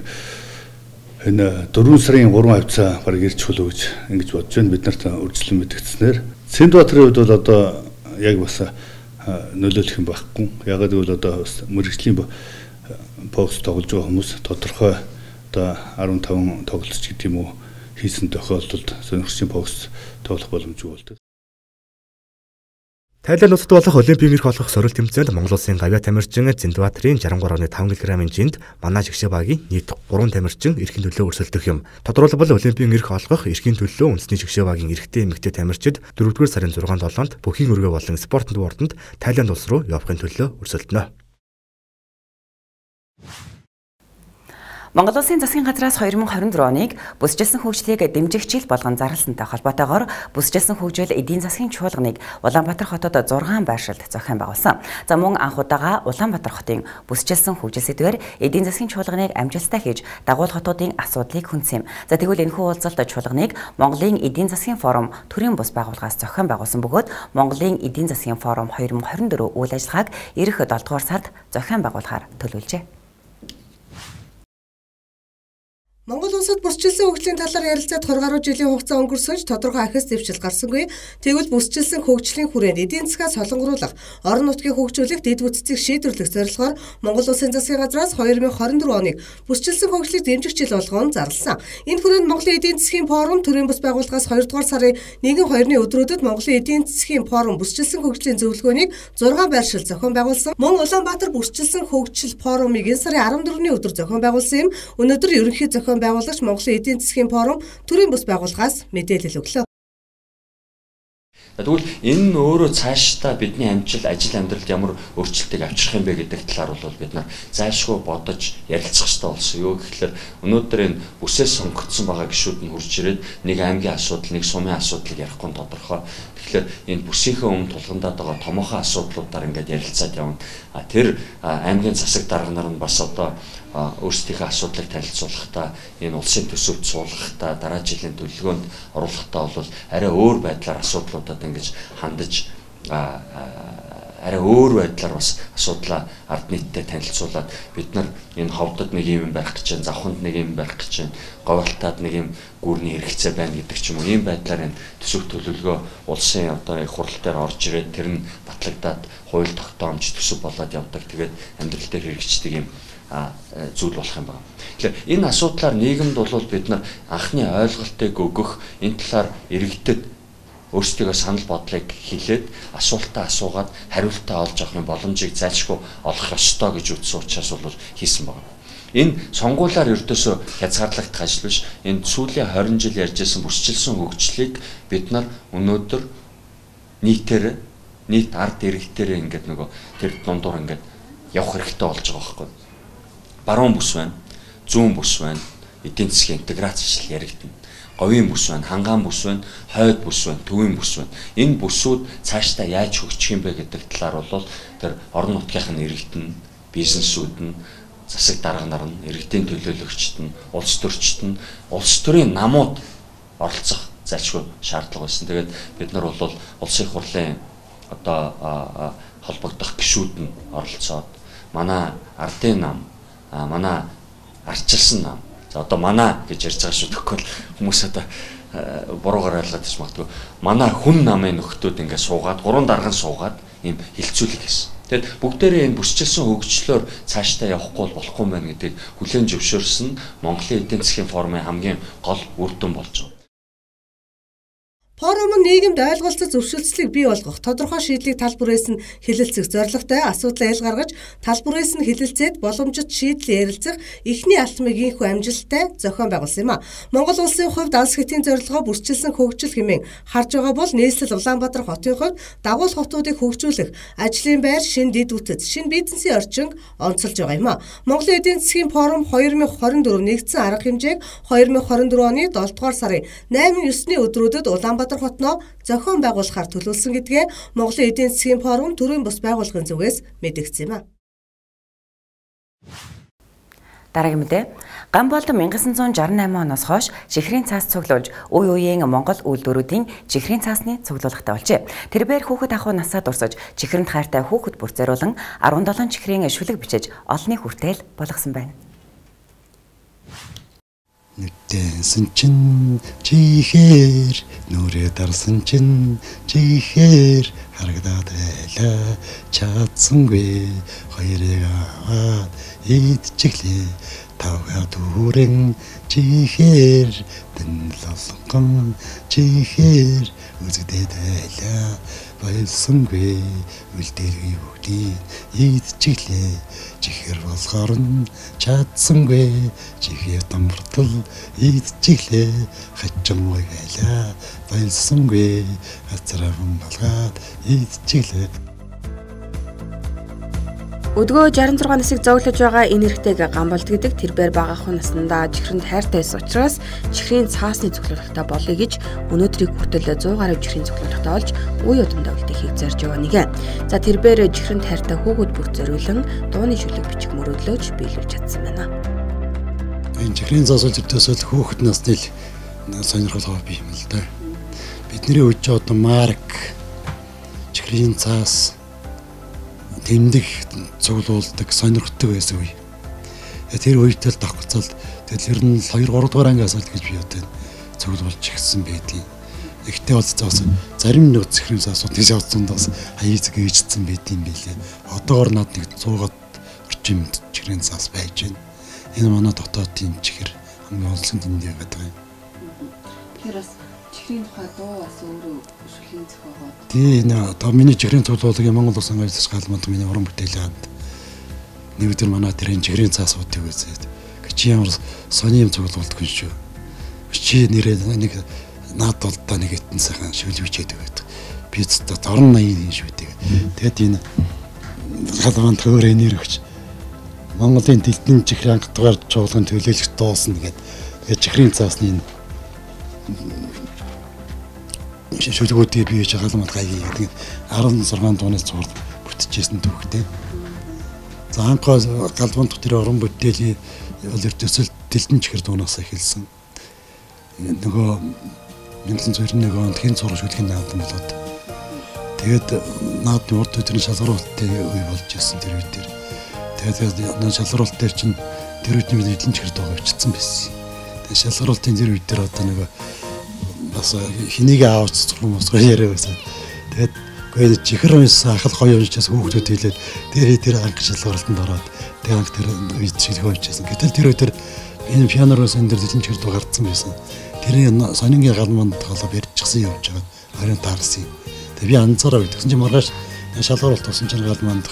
энэ 4 сарын 3 хавцаа баг ирж хөлөө гэж ингэж бодож байна. Бид нарт үржилэн мэдгдснээр Цэндбаатарын хувьд бол одоо яг бас нөлөөлөх юм байхгүй. Ягаад гэвэл одоо мэрэгжлийн бокс тоглож байгаа хүмүүс тодорхой одоо 15 тоглолч гэдэг юм уу хийсэн тохиолдолд сонирхчийн бокс тоглох боломжгүй болдог. Тайланд улсад болох Олимпийн эрх олгох сорилт тэмцээнд Монгол Улсын гавьяа тамирчин Зиндбаатарын 63.5 кг-ын жинд манай жигшээ багийн нийт 3 тамирчин эрхийн төлөө өрсөлдөх юм. Тодорхойлбол Олимпийн эрх олгох эрхийн төлөө үндэсний жигшээ багийн эрэгтэй эмэгтэй тамирчид 4-р сарын 6-7-нд бүхийн өргөө болон спортын дуурданд Тайланд улс руу явахын төлөө өрсөлдөнө. Монгол Улсын засгийн газраас 2024 оныг бүсчилсэн хөгжлийг дэмжих жил болгон зарласантай холбоотойгоор бүсчилсэн хөгжил эдийн засгийн чуулганыг Улаанбаатар хотод 6 байршилд зохион байгуулсан. За мөн анх удаага Улаанбаатар хотын бүсчилсэн хөгжил сэдвээр эдийн засгийн чуулганыг амжилттай хийж дагуул хотуудын асуудлыг хүндсэн юм. За тэгвэл энэхүү уулзалт чуулганыг Монголын эдийн засгийн форум төрийн бус байгууллагаас зохион байгуулсан бөгөөд Монголын эдийн засгийн форум 2024 үйл ажиллагааг ирэх 7 дугаар сард зохион байгуулахаар төлөвлөжээ. Монгол улсад бүсчилсэн хөгжлийн талаар ярилцаад 20 гаруй жилийн хугацаа өнгөрсөж тодорхой ахис дэвшил гарсангүй. Тэгвэл бүсчилсэн хөгжлийн хүрээнд эдийн засгаа солонгоруулах, орон нутгийг хөгжүүлэх, дэд бүтцийг шийдвэрлэх зорилгоор Монгол Улсын засгийн газраас 2024 оныг бүсчилсэн хөгжлийг дэмжих жил болгон зарласан. Энэ хүрээнд Монголын эдийн засгийн форум төрийн бус байгууллагаас 2 дугаар сарын 1-2-ны өдрүүдэд Монголын эдийн засгийн форум бүсчилсэн хөгжлийн зөвлөгөөнийг 6 байршил зохион байгуулсан. Мөн Улаанбаатар бүсчилсэн хөгжил форумыг энэ сарын 14-ний өдөр зохион байгуулсан юм. Өнөөдөр ерөнхий зохион байгуулагч Монголын эдийн засгийн форум төрийн бус байгууллагаас мэдээлэл өглөө. Тэгвэл энэ нь өөрөө цаашдаа бидний амжилт ажил амьдралд ямар өөрчлөлтийг авчрах юм бэ гэдэг талаар бол бид нар зайлшгүй бодож ярилцах хэрэгтэй болсон. Юу гэхээр өнөөдөр энэ бүсээс сонгогдсон байгаа гишүүд нь хурж ирээд нэг аймгийн асуудал, нэг сумын асуудлыг ярихгүй тодорхой. Тэгэхээр энэ бүсийнхээ өмнө тулгандаад байгаа томоохон асуудлуудаар ингээд ярилцаад явна. Тэр аймгийн засаг дарга нар нь бас одоо өөрсдийнхээ асуудлыг танилцуулахдаа энэ улсын төсөвт суулгахдаа дараа жилийн төлөвлөгөөнд оруулахдаа бол арай өөр байдлаар асуудлуудад ингэж хандаж арай өөр байдлаар бас асуудлаа ард нийтэд танилцуулаад бид нар энэ ховдод нэг юм байх гэж байна, завханд нэг юм байх гэж байна, говьалтад нэг юм гүрний хэрэгцээ байна гэдэг ч юм уу ийм байдлаар энэ төсөв төлөвлөгөө улсын одоо их хурал дээр орж ирээд тэр нь батлагдаад хууль тогтоомж төсөв болоод явдаг. Тэгээд амьдрал дээр хэрэгждэг юм зүйл болох юм байна. Тэгэхээр энэ асуудлаар нийгэмд бол бид нар анхны ойлголтыг өгөх, энэ талаар иргэдэд өөрсдөө санал бодлыг хэлээд асуултаа асуугаад хариултаа олж авахын боломжийг зайлшгүй олох ёстой гэж үзсэн учраас бол хийсэн байна. Энэ сонгуулиар ердөөсөө хязгаарлагдах ажил биш. Энэ сүүлийн 20 жил ярьжсэн бүсчилсэн хөгжлийг бид нар өнөөдөр нийт ард иргэдээрээ ингээд нөгөө тэр дундуур ингээд явах хэрэгтэй болж байгаа байхгүй. Баруун бүс байна, зүүн бүс байна, эдийн засгийн интеграцчлал яригдана. Говийн бүс байна, хангаан бүс байна, хойд бүс байна, төвийн бүс байна. Энэ бүсүүд цаашдаа яаж хөгжих юм бэ гэдэг талаар бол тэр орон нутгийнх нь иргэдэн, бизнесүүд нь, засаг дарга нар нь, иргэдийн төлөөлөгчд нь, улс төрчид нь, улс төрийн намууд оролцох зайлшгүй шаардлага байсан. Тэгээд бид нар бол улсын их хурлын одоо холбогдох гишүүд нь оролцоод манай ардын нам, манай арчилсан нам. За одоо манай гэж ярьж байгаа шүү тэгэхгүй хүмүүс одоо буруугаар ойлгоод ич магадгүй. Манай хүн намын нөхдүүд ингээд суугаад, 3 дарган суугаад ийм хилцүүлэг хийсэн. Тэгэд бүгдээрээ энэ бүсчилсэн хөгжлөөр цаашдаа явахгүй болохгүй юм байна гэдгийг хүлээн зөвшөөрсөн Монголын эдийн засгийн форумын хамгийн гол үр дүн болж байгаа. Форум нь нийгэмд ойлголцол зөвшөөрлийг бий болгох, тодорхой шийдлийг тал бүрээс нь хэлэлцэх зорилготой асуудал айл гаргаж, тал бүрээс нь хэлэлцээд боломжит шийдэл ярилцах эхний алтмыг ийхүү амжилттай зохион байгуулсан юм а. Монгол улсын хувьд алс хэтийн зорилгоо бүрчилсэн хөгжил хэмээн харж байгаа бол нийслэл Улаанбаатар хотын хувьд дагуул хотуудыг хөгжүүлэх, ажлын байр, шин дэд үтц, шин бизнесийн орчин онцолж байгаа юм а. Монголын эдийн засгийн форум 2024 нэгдсэн арга хэмжээг 2024 оны 7 дугаар сарын 8-9-ны өдрүүдэд Улаанбаатар хотноо зохион байгуулахаар төлөвлөсөн гэдгээ Монголын эдийн засгийн форум төрийн бус байгууллагын зүгээс мэдэгдсэн юм а. Дараагийн мэдээ. Гамболд 1968 оноос хойш чихрийн цаас цуглуулж, үе үеийн Монгол үйлдвэрүүдийн чихрийн цаасны цуглуулгатай болжээ. Тэрбээр хүүхэд ахуй насаа дурсаж, чихрэнд хайртай хүүхэд бүр зориулан 17 чихрийн шүлэг бичиж олонний хүртэл болгосон байна. Нүдэнсэн чин чихээр нүрээ дарсан чин чихээр харагдаад байлаа чадсангүй хоёрыг аваад идчихлээ тавга дүүрэн чихээр дэнлолгон чихээр үзэгдээд байлаа байлсангүй үлдээгүй бүгдийг идчихлээ чихэр болохоор нь чадсангүй чихээ дамбартал идчихлээ хачмгүй байлаа байлсангүй хацраахан балгаад идчихлээ. Өдгөө 66 насыг зөглөж байгаа энэ эрэгтэйг гамбалт гэдэг тэрбээр бага ахуй наснда чихрэнд хайртай байсан учраас чихрийн цаасны цоглуулгатай болъё гэж өнөөдрийг хүртэл 100 гаруй чихрийн цоглуулгатай олж үе удамдаа үлдэхийг зорж байгаа нэгэн. За тэрбээр чихрэнд хайртай хүүхэд бүрт зориулан дууны шүлэг бичих мөрөөдлөөж биелүүлж чадсан байна. Энэ чихрийн цаас үлдээсэл хүүхэд насны сонирхол хобби юм л да. Бидний үеч одоо марк чихрийн цаас тэмдэг цуглуулдаг сонирхдаг байсан үе. Тэр үедээ л давхцал тэгэл ер нь 2 3 дугаар анги асуулт гэж би одоо цуглуулж ирсэн байдгийг. Ихтэй бол заас зарим нэг чихрийн цаасууд тийш авцсандаас хаяцэг ээжсэн байдığım билээ. Одоогор над нэг 100-аад орчим чихрийн цаас байж байна. Энэ манай дотоодын чихэр хамгийн онцлог тэмдэг байдаг юм. Тэгэхээр бас чихрийн тухай дуу бас өөрөө шүлгийн зохиогоод. Тий нэ одоо миний чихрийн цуглуулгын Монгол Улс ангилж галманд миний уран бүтээлээ ханд. Нэг өдөр манай тэрэн чихрийн цаасуудыг үзээд чи ямар сони юм цуглуулдаг юм шүү. Чи нэрээ нэг наад болдоо нэг хитэн сайхан шүлж бичээд байдаг. Би зөв орон 80 юм шүү дээ. Тэгэд энэ галманд хөөрэ нэрвч Монголын дэлдэн чихрийн анх дугаар чуулган төлөөлөгч дуусна гэдэг чихрийн цаасны шүлгүүдийг бий хийж галманд гайгүй гэдэг 16 дуунаас зурд бүтчихсэн түүхтэй. За анхаа галманд тэр орон бүтээлийн ертөсөл дэлдэн чихэр дуунаас эхэлсэн. Нөгөө 1991 онд хэн зураг шүлгийн наадам болоод тэгээд наадмын урд өдрийн шалгаруулалтын үе болж ирсэн тэр үед дээр. Тэгээд шалгаруулалт дээр чинь тэр үед нэг дэлдэн чихэр дуу авчихсан байсан. Тэгээд шалгаруулалтын тэр үед дээр одоо нөгөө бас хэнийг аавч зурх хүмүүс яриа байсан. Тэгээд гээ чихэр унсан ахал гоё уншчихсан хүүхдүүд хэлээд тэр анх шалгуулалтанд ороод тэр анх тэр үед шилхөө хийчихсэн. Гэтэл тэр өдөр энэ пианороос энэ дэлгэн чихэр дуу гарцсан байсан. Тэрний сонингийн галманд тоглоо барьчихсан явж байгаа. Харин таарсан. Тэгээд би анзаараа үйдсэн чинь маргааш шалгуулалт тусан чинь галманд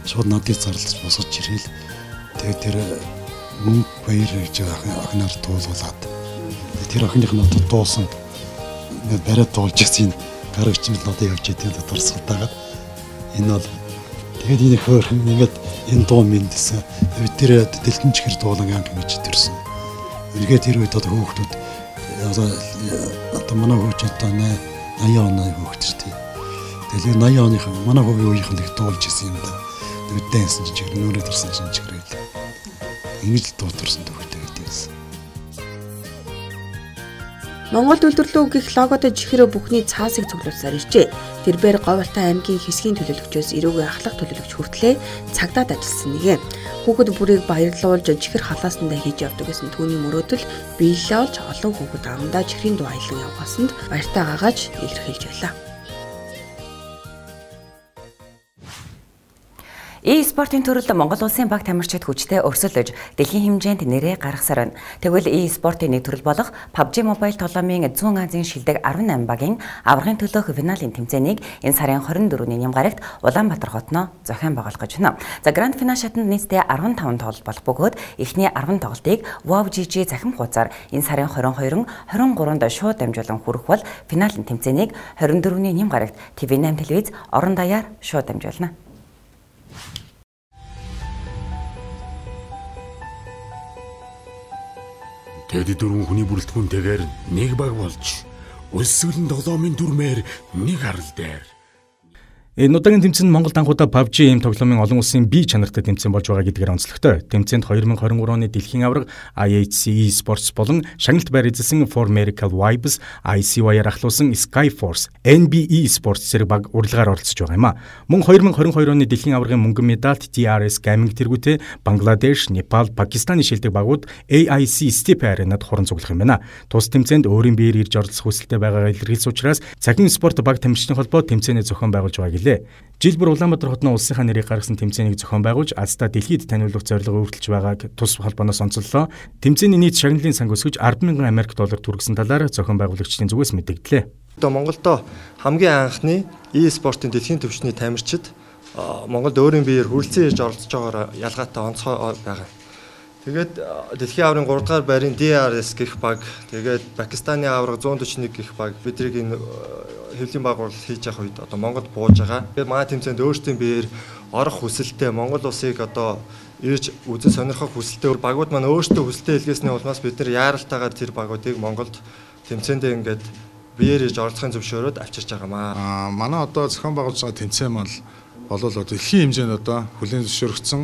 шууд надыг зарлаж босгож ирээл. Тэгээд тэр мөнгө баяр гэж охиноор туулуулаад тэр охиных нь одоо дуусан бариад дуулж ирсэн гарагч нь надад явж идэв дурсгалтаагаад энэ бол тэгээд энэ хөөрхөн ингээд энэ дуу мэдсэн. Тэгээд тэр дэлгэн чихэр дуулан анги гэж төрсөн. Үнэхээр тэр үед одоо хүүхдүүд одоо манай хүүхд одоо 80 оны хүүхд шүү дээ. Тэгээд 80 оныхан манай хүүгийн үеийнхэн их дуулж ирсэн юм да. Нүдэнсэн чихэр нүрээ төрсэн чихэр байл. Ингэж л дууторсон төвхтэй байдагсан. Монгол үйлдвэрлэл гэх логотой чихрөө бүхний цаасыг цуглуулсаар иржээ. Тэрбээр Говьалтай аймгийн хэсгийн төлөөлөгчөөс эрүүгийн ахлах төлөөлөгч хүртлээ цагдаад ажилласан нэгэн. Хүүхэд бүрийг баярлуулж чихэр халаасандаа хийж явдаг гэсэн түүний мөрөөдөл биелэлээ олж олон хүүхэд амдаа чихрийн дуу аялан явахсанд баяртай гагааж илэрхийлж байлаа. E-спортын төрөлд Монгол Улсын баг тамирчид хүчтэй өрсөлдөж дэлхийн хэмжээнд нэрээ гаргасаар байна. Тэгвэл e-спортын нэг төрөл болох PUBG Mobile тоглоомын 100 Азийн шилдэг 18 багийн аврагын төлөөх финалийн тэмцээнийг энэ сарын 24-ний Нямгарагт Улаанбаатар хотноо зохион байгуулах гэж байна. За гранд финал шатанд нийтдээ 15 тоглолт болох бөгөөд эхний 10 тоглолтыг WoW GG захим хуудасаар энэ сарын 22-23-нд шууд дамжуулан хүрэх бол финалийн тэмцээнийг 24-ний Нямгарагт TV8 телевиз орон даяар шууд дамжуулна. Тэгэд дөрвөн хүний бүрэлдэхүүнтэйгээр нэг баг болж өсвөлн тоглоомын дүрмээр нэг харал дээр. Энэ удаагийн тэмцээн Монгол анхудаа PUBG эм тоглоомын олон улсын бие чанартай тэмцээн болж байгаа гэдгээр онцлогтой. Тэмцээнд 2023 оны дэлхийн аварга IHC Esports болон шагналт байр эзэлсэн For Miracle Vibes, ICY-аар ахлуулсан Skyforce, NBE Esports зэрэг баг урилгаар оролцож байгаа юм а. Мөн 2022 оны дэлхийн аваргын мөнгөн медальт TRS Gaming тэргүүтээ Бангладеш, Непал, Пакистаны шилдэг багууд AIC Step Arena-д хуран цуглах юм байна. Тус тэмцээнд өөрийн биеэр ирж оролцох хүсэлтэй байгаагаа илэрхийлсэн учраас Цахим спорт баг тамирчдын холбоо тэмцээний зохион байгуулж байгаа. Жил бүр Улаанбаатар хотны улсынхаа нэрийг гаргасан тэмцээнийг зохион байгуулж Азта дэлхийд таниулах зорилго өөрчилж байгааг тус холбооноос онцоллоо. Тэмцээний нийт шагналын сан өсгөж 10,000 Америк доллар түргэсэн талаар зохион байгуулагчдын зүгээс мэдэгдлээ. Монголдо хамгийн анхны e-спортын дэлхийн түвшний тамирчид Монголд өөрийн биеэр хүрэлцэн ирж оролцож байгаагаар ялгаатай онцгой байгаа. Тэгээд дэлхийн аваргын 3 дугаар байрын DRS гэх баг, тэгээд Пакистаны аварга 141 гэх баг бидрийг энэ хэвлийн байгуулалт хийж явах үед одоо Монгол бууж байгаа. Тэгээд манай тэмцээнд өөрсдийн биеэр орох хүсэлтэй Монгол улсыг одоо ирж үзэн сонирхох хүсэлтэй багууд маань өөрсдөө хүсэлтэй илгээсний улмаас бид нар яаралтайгаар тэр багуудыг Монголд тэмцээндээ ингээд биеэр ирж оролцохын зөвшөөрөөд авчирч байгаамаа. Манай одоо зохион байгуулж байгаа тэмцээн маань болол дэлхийн хэмжээнд одоо хүлээн зөвшөөрөгдсөн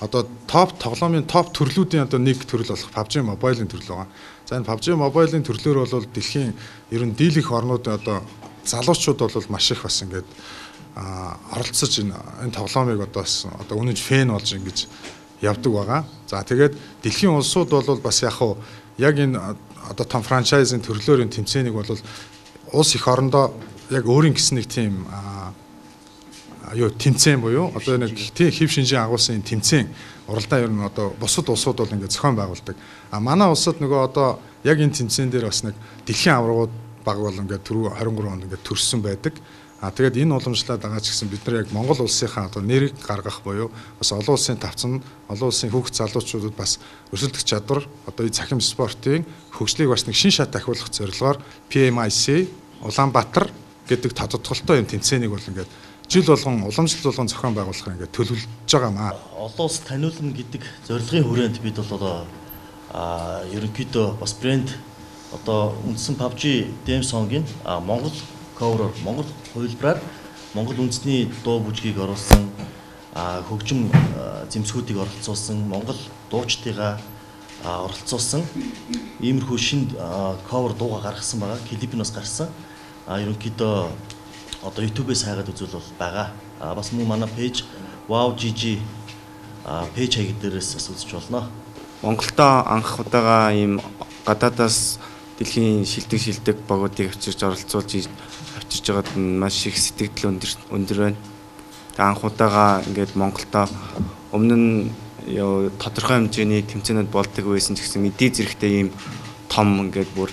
одоо топ тоглоомын топ төрлүүдийн одоо нэг төрөл болох PUBG Mobile-ийн төрөл байгаа. За энэ PUBG Mobile-ийн төрлөөр бол дэлхийн ер нь дийлэх орнуудын одоо залуучууд бол маш их бас ингээд оролцож энэ тоглоомыг одоо үнэж фэн болж ингэж явдаг байгаа. За тэгээд дэлхийн улсууд бол бас яг энэ одоо том франчайзын төрлөөрийн тэмцээнийг бол улс их орондоо яг өөрийн гэсэн нэг тийм тэмцээн буюу одоо нэг хэв шинжийн агуулсан тэмцээн уралдаан ер нь одоо бусад улсууд бол ингээд зохион байгуулдаг. Манай улсад нөгөө одоо яг энэ тэмцээн дээр бас нэг дэлхийн аваргууд баг бол ингээд түрүү 23 онд ингээд төрсөн байдаг. Тэгээд энэ уламжлаад байгаа ч гэсэн бид нар яг Монгол улсынхаа одоо нэрийг гаргах буюу бас олон улсын тавцан, олон улсын хүүхд залуучуудад бас өрсөлдөх чадвар одоо энэ цахим спортын хөгжлийг бас нэг шин шат ахиулах зорилгоор PMIC Улаанбаатар гэдэг тодтолтой юм тэмцээнийг бол ингээд жил болгон уламжлал болгон зохион байгуулахыг ингээд төлөвлөж байгаа маа. Олон улс таниулна гэдэг зорилгын хүрээнд бид бол одоо ерөнхийдөө бас брэнд одоо үндсэн PUBG Dance Song-ийн Монгол cover-оор Монгол хувилбараар Монгол үндэсний дуу бүжгийг оруулсан хөгжим зэмсгүүдийг оролцуулсан Монгол дуучдыгаа оролцуулсан иймэрхүү шинэ cover дууга гаргасан байгаа. Клипнээс гарсан. Ерөнхийдөө одоо YouTube-ээс хайгаад үзвэл бол байгаа. Бас мөн манай пэйж WowGG пэйж хаяг дээрээс бас үзэж болно. Монголдо анх удаага ийм гадаадаас дэлхийн шилдэг багуудыг авчирч оролцуулж авчирч байгаад маш их сэтгэл өндөр байна. Анх удаага ингээд Монголдо өмнө нь тодорхой хэмжээний тэмцээнүүд болдог байсан ч гэсэн эдийн зэрэгтэй ийм том ингээд бүр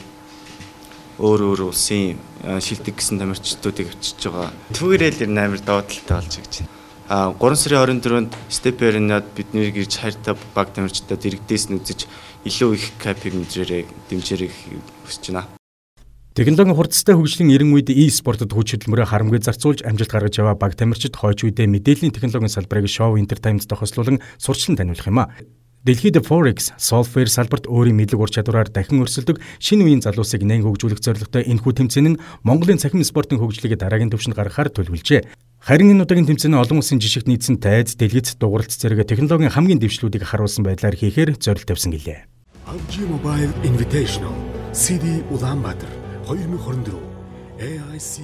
өөр улсын шилдэг гэсэн тамирчдуудыг авчирч байгаа. Түүгээрээ л амар давааталтай болж гэж байна. 3 сарын 24-нд Step Arena-д биднийг ирж хайртай баг тамирчдад иргэдээс нь үзэж илүү их капиг дэмжээрэй хүсэж байна. Технологийн хурцтай хөгжлийн эрен үед e-спортод хүч хөдөлмөрөөр харамгүй зарцуулж амжилт гаргаж яваа баг тамирчид хойч үедээ мэдээллийн технологийн салбарыг шоу entertainment тохиолслуулан сурчлан таниулах юм а. Дэлхийд Forex, Software салбарт өөрийн мэдлэг ур чадвараар дахин өрсөлдөг шинэ үеийн залуусыг нэн хөгжүүлэх зорилготой энэхүү тэмцээн нь Монголын цахим спортын хөгжлийг дараагийн түвшинд гаргахаар төлөвлөжээ. Харин энэ удаагийн тэмцээн олон улсын жишгт нийцсэн тайз, дэлгэц, дугуйлт зэрэг технологийн хамгийн дэвшлүүдийг харуулсан байдлаар хийхээр зорилт тавьсан гэлээ. PUBG Mobile Invitational CD Улаанбаатар 2024 AIC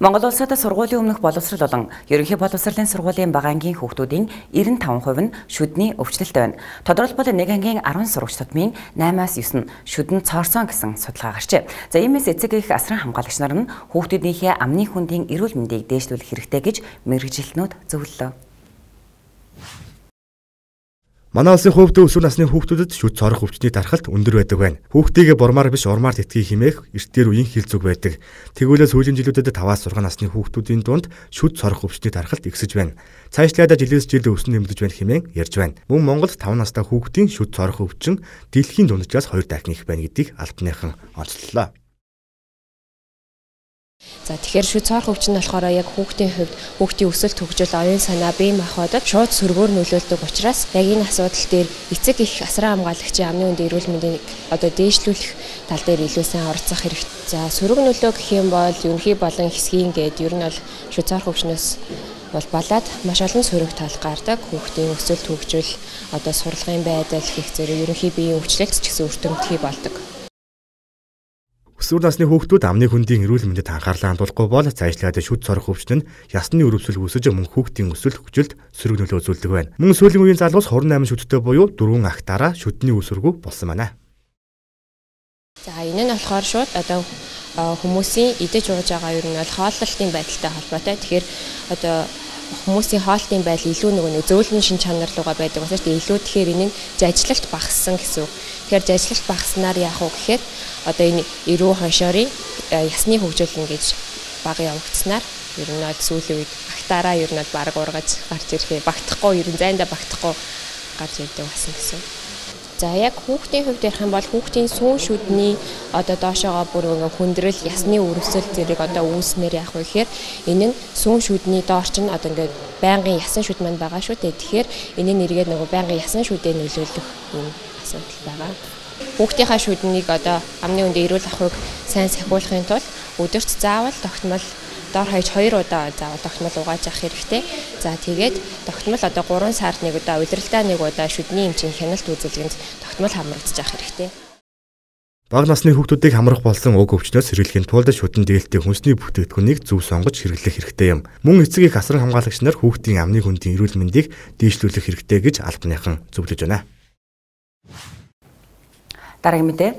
Монгол улсад сургуулийн өмнөх боловсрол болон ерөнхий боловсролын сургуулийн бага ангийн хүүхдүүдийн 95% нь шүдний өвчлөлттэй байна. Тодорхойлбол нэг ангийн 10 сурагч тутмын 8-аас 9 нь шүдэн цоорсон гэсэн судалгаа гарчээ. За иймээс эцэг эх асран хамгаалагч нар нь хүүхдүүдийнхээ амны хүндийн эрүүл мэндийг дээшлүүлэх хэрэгтэй гэж мэргэжилтнүүд зөвлөлөө. Манай улсын хувьд өсвөр насны хүүхдүүдэд шүд цорох өвчтний дархалт өндөр байдаг байна. Хүүхдийгээ бормаар биш урмаар тэтгэе хэмээх эрт дээр үеийн хэл зүг байдаг. Тэгвэл сүүлийн жилүүдэд 5-6 насны хүүхдүүдийн дунд шүд цорох өвчтний дархалт ихсэж байна. Цаашлаад жилээс жилд өснө нэмэгдэж байна хэмээн ярьж байна. Мөн Монголд 5 настай хүүхдийн шүд цорох өвчин дэлхийн дунджаас 2 дахин их байна гэдгийг албаныхан онцлолоо. За тэгэхээр шүд цоор хөгжин нь болохоор яг хүүхдийн хувьд хүүхдийн өсөлт хөгжил, оюун санаа, бие махбодод шууд сөргөөр нөлөөлдөг учраас яг энэ асуудал дээр эцэг их асран хамгаалагчийн амны үндэ эрүүл мэндийг одоо дээшлүүлэх тал дээр илүү сайн оролцох хэрэгтэй. За сөрөг нөлөө гэх юм бол ерөнхий болон хэсгийн гээд ер нь бол шүд цоор хөгжнөөс бол балаад маш олон сөрөг тал гардаг. Хүүхдийн өсөлт хөгжил, одоо сурлагын байдал гэх зэрэг ерөнхий биеийн өвчлөлт ч гэсэн өртөмтгий болдог. Өсвөр насны хүүхдүүд амны хөндийн эрүүл мэндэд анхаарлаа хандуулахгүй бол цаашлаад шүд цорох өвчин нь ясны өрөвсөл үүсэж мөн хүүхдийн өсөлт хөгжилд сөрөг нөлөө үзүүлдэг байна. Мөн сүүлийн үеийн залуус 28 шүдтэй буюу 4 агтаараа шүдний үсэргүү болсон байна. За энэ нь болохоор шууд одоо хүмүүсийн идэж ууж байгаа ер нь бол хооллолтын байдалтай холбоотой. Тэгэхээр одоо хүмүүсийн хоолтын байдал илүү нэг зөөлрийн шин чанар руугаа байдаг учраас илүү тэгэхээр энэ нь зажилагт багассан гэсэн үг. Тэгэхээр зажилагт багаснаар яах вэ гэхээр одоо энэ эрүү хоншоорын ясны хөгжил ингэж бага явагдсанаар ер нь бол сүүлийн үед агтаараа ер нь бол баг ургаж гарч ирэхээ багтахгүй ер нь зайндаа багтахгүй гарч ирдэг болсон гэсэн. За яг хүүхдийн хувьд ярих юм бол хүүхдийн сүүн шүдний одоо доошоогоо бүр хүндрэл ясны өрөвсөл зэрэг одоо үүснээр яах вэ гэхээр энэ нь сүүн шүдний доор чинь одоо ингээд байнгын ясан шүд маань байгаа шүү дээ. Тэгэхээр энэ нь эргээд нөгөө байнгын ясан шүдэд нөлөөлөх юм асуудал байгаа. Хүүхдийнхаа шүднийг одоо амны үндэ эрүүл ахуйг сайн сахиулахын тулд өдөрт заавал тогтмол доор хаяж 2 удаа заавал тогтмол угааж авах хэрэгтэй. За тэгээд тогтмол одоо 3 сард нэг удаа, улиралдаа нэг удаа шүдний эмчийн хяналт үзүүлгэнд тогтмол хамрагдаж авах хэрэгтэй. Бага насны хүүхдүүдийг хамрах болсон уг өвчнөөс сэргийлэхийн тулд шүдэн дээлтэй хүнсний бүтээгдэхүүнийг зөв сонгож хэрэглэх хэрэгтэй юм. Мөн эцэг их асран хамгаалагч нар хүүхдийн амны хөндийн эрүүл мэндийг дээшлүүлэх хэрэгтэй гэж албаныхан зөвлөж байна. Дараагийн мэдээ.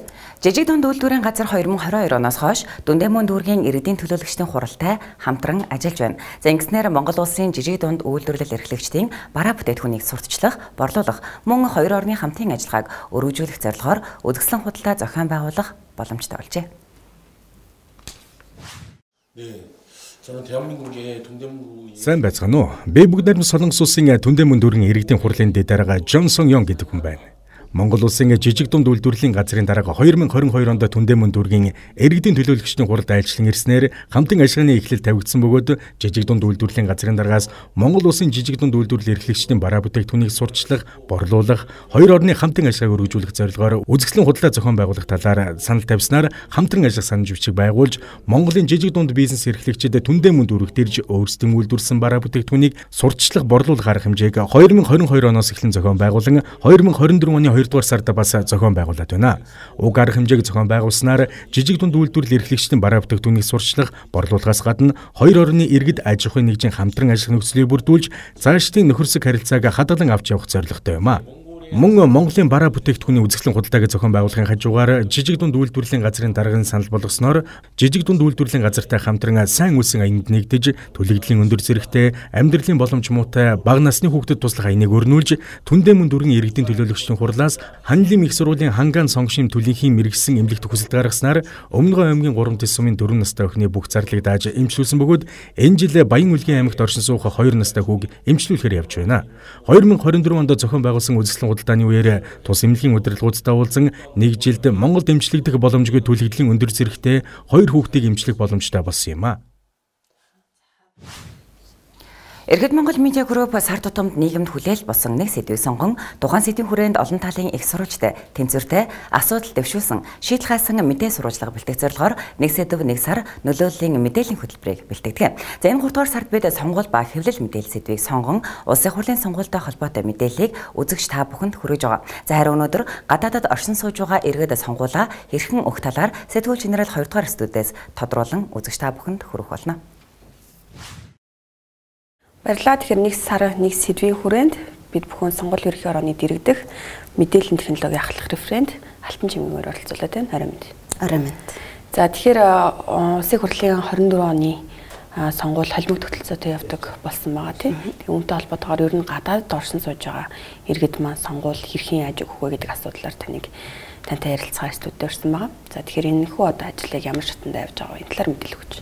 Жижиг дунд үйлдвэрийн газар 2022 оноос хойш Дүндэмүн дүүргийн иргэдийн төлөөлөгчдийн хуралтай хамтран ажиллаж байна. За ингэснээр Монгол улсын жижиг дунд үйлдвэрлэл эрхлэгчдийн бараа бүтээгдэхүүнийг сурталчлах, борлуулах, мөн хоёр орны хамтын ажиллагааг өргөжүүлэх зорилгоор үзэсгэлэн худалдаа зохион байгуулах боломжтой болжээ. Сайн байцгаана уу? Би бүгд найрамд Солонгос улсын Дүндэмүн дүүргийн иргэдийн хурлын дэд дарга Джонсон Йон гэдэг хүн байна. Монгол улсын жижиг дунд үйлдвэрлэлийн газрын дарга 2022 онд Дүндэмүн дүүргийн иргэдийн төлөөлөгчдийн хуралд ажиллан ирснээр хамтын ажиллагааны эхлэл тавигдсан бөгөөд жижиг дунд үйлдвэрлэлийн газрын даргаас Монгол улсын жижиг дунд үйлдвэрлэл эрхлэгчдийн бараа бүтээгдэхүүнийг сурталчлах, борлуулах, хоёр орны хамтын ажиллагааг өргөжүүлэх зорилгоор үзэсгэлэн худалдаа зохион байгуулах талаар санал тавьснаар хамтран ажиллах санамж бичиг байгуулж Монголын жижиг дунд бизнес эрхлэгчид Дүндэмүн дүүрэгт ирж өөрсдийн үйлдвэрлэсэн бараа бүтээгдэхүүнийг сурталчлах, борлуулах арга хэмжээг 2022 оноос эхлэн зохион байгуулан 2024 оны 2 дугаар сард бас зохион байгуулад байна. Уг арга хэмжээг зохион байгуулснаар жижиг дунд үйлдвэрлэл эрхлэгчдийн бараа бүтээгдэхүүнийг сурчлах, борлуулахаас гадна хоёр орны иргэд аж ахуйн нэгжийн хамтран ажиллах нөхцөлийг бүрдүүлж цаашдын нөхөрсөг харилцааг хадгалан авч явах зорилготой юм а. Мөн Монголын бараа бүтээгдэхүүний үзэсгэлэн худалдааг зохион байгуулахын хажуугаар жижиг дунд үйлдвэрлэлийн газрын дарганы санал болгосноор жижиг дунд үйлдвэрлэлийн газартай хамтран сайн үйлсэн аянд нэгдэж төлөгдлийн өндөр зэрэгтэй амьдралын боломж муутай бага насны хүүхдэд туслах аяныг өрнүүлж Дүндэмүн дүүргийн иргэдийн төлөөлөгчдийн хурлаас Ханилын их сургуулийн Хангаан сонгошийн төлөвийн мэрэгсэн эмнэлэгт хүсэлт гаргаснаар Өмнөгой аймгийн 3 тэс сумын 4 настай охины бүх зарлыг дааж эмчлүүлсэн бөгөөд энэ жил Баян Үлгийн аймагт оршин суух 2 настай хүүг эмчлүүлэхээр явж байна. 2024 онд зохион байгуулсан үзэсгэлэн худалдааны үеэр тус эмнэлгийн удирдлагуудтай уулзан нэг жилд Монголд эмчлэгдэх боломжгүй төлөвлөлийн өндөр зэрэгтэй 2 хүүхдийг эмчлэх боломжтой болсон юм а. Иргэд Монгол медиа групп сар тутамд нийгэмд хүлээл болсон нэг сэдвийг сонгон тухайн сэдвийн хүрээнд олон талын их сурвалжтай тэнцвэртэй асуудал дэвшүүлсэн шийдэл хаасан мэдээ сурвалжлага бэлтгэх зорилгоор нэг сэдв нэг сар нөлөөллийн мэдээллийн хөтөлбөрийг бэлтгэдэг. За энэ 3 дугаар сард бид сонгуул ба хэвлэл мэдээлэл сэдвийг сонгон улсын хурлын сонгуультай холбоотой мэдээллийг үзэгч та бүхэнд хүргэж байгаа. За харин өнөөдөр гадаадад оршин сууж байгаа иргэд сонгуулаа хэрхэн өгөх талаар сэтгүүл генерал 2 дугаар студиэс тодруулан үзэгч та бүхэнд хүргэх болно. Баярлалаа. Тэгэхээр нэг сар нэг сэдвийн хүрээнд бид бүхэн сонгуул ерөнхий орооны дэргэдэх мэдээллийн технологи ахлах референт Алтан Чимгмээр оролцуулаад байна. Орой мэнд. Орой мэнд. За тэгэхээр улсын хурлын 24 оны сонгуул холимог тогтолцоотой явдаг болсон байгаа тийм. Тэгээ үүнтэй холбоотойгоор ер нь гадаадд оршин сууж байгаа иргэд маань сонгуул хэрхэн яаж өгөх вэ гэдэг асуудлаар тантай ярилцахаар студид өрсөн байгаа. За тэгэхээр энэ хүү одоо ажлыг ямар шатанд явж байгаа вэ? Энэ талаар мэдээлэл өгч.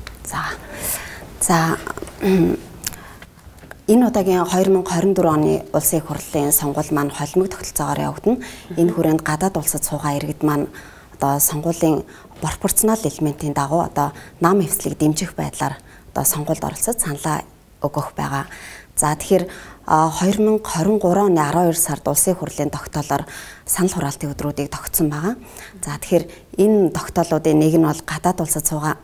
За энэ удаагийн 2024 оны улсын хурлын сонгуул маань холимог тогтолцоогоор явагдана. Энэ хүрээнд гадаад улсад суугаа иргэд маань одоо сонгуулийн пропорционал элементийн дагуу одоо нам эвслийг дэмжих байдлаар одоо сонгуульд оролцож саналаа өгөх байгаа. За тэгэхээр 2023 оны 12 сард улсын хурлын тогтоолоор санал хураалтын өдрүүдийг тогтсон байгаа. За тэгэхээр энэ тогтоолуудын нэг нь бол гадаад улсад суугаа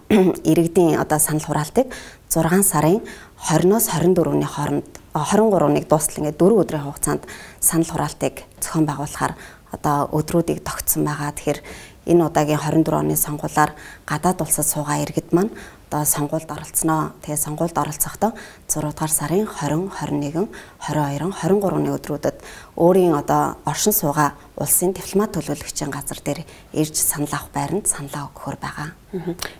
иргэдийн одоо санал хураалтыг 6 сарын 20-оос 24-ний хооронд 23-ныг дуустал ингээд 4 өдрийн хугацаанд санал хураалтыг зохион байгуулахаар одоо өдрүүдийг тогтсон байгаа. Тэгэхээр энэ удаагийн 24 оны сонгуулиар гадаад улсад суугаа иргэд маань одоо сонгуульд оролцсноо. Тэгээ сонгуульд оролцохдоо 6 дугаар сарын 20, 21, 22, 23-ны өдрүүдэд өөрийн одоо оршин суугаа улсын дипломат төлөөлөгчийн газар дээр ирж санал авах байранд саналаа өгөхөр байгаа.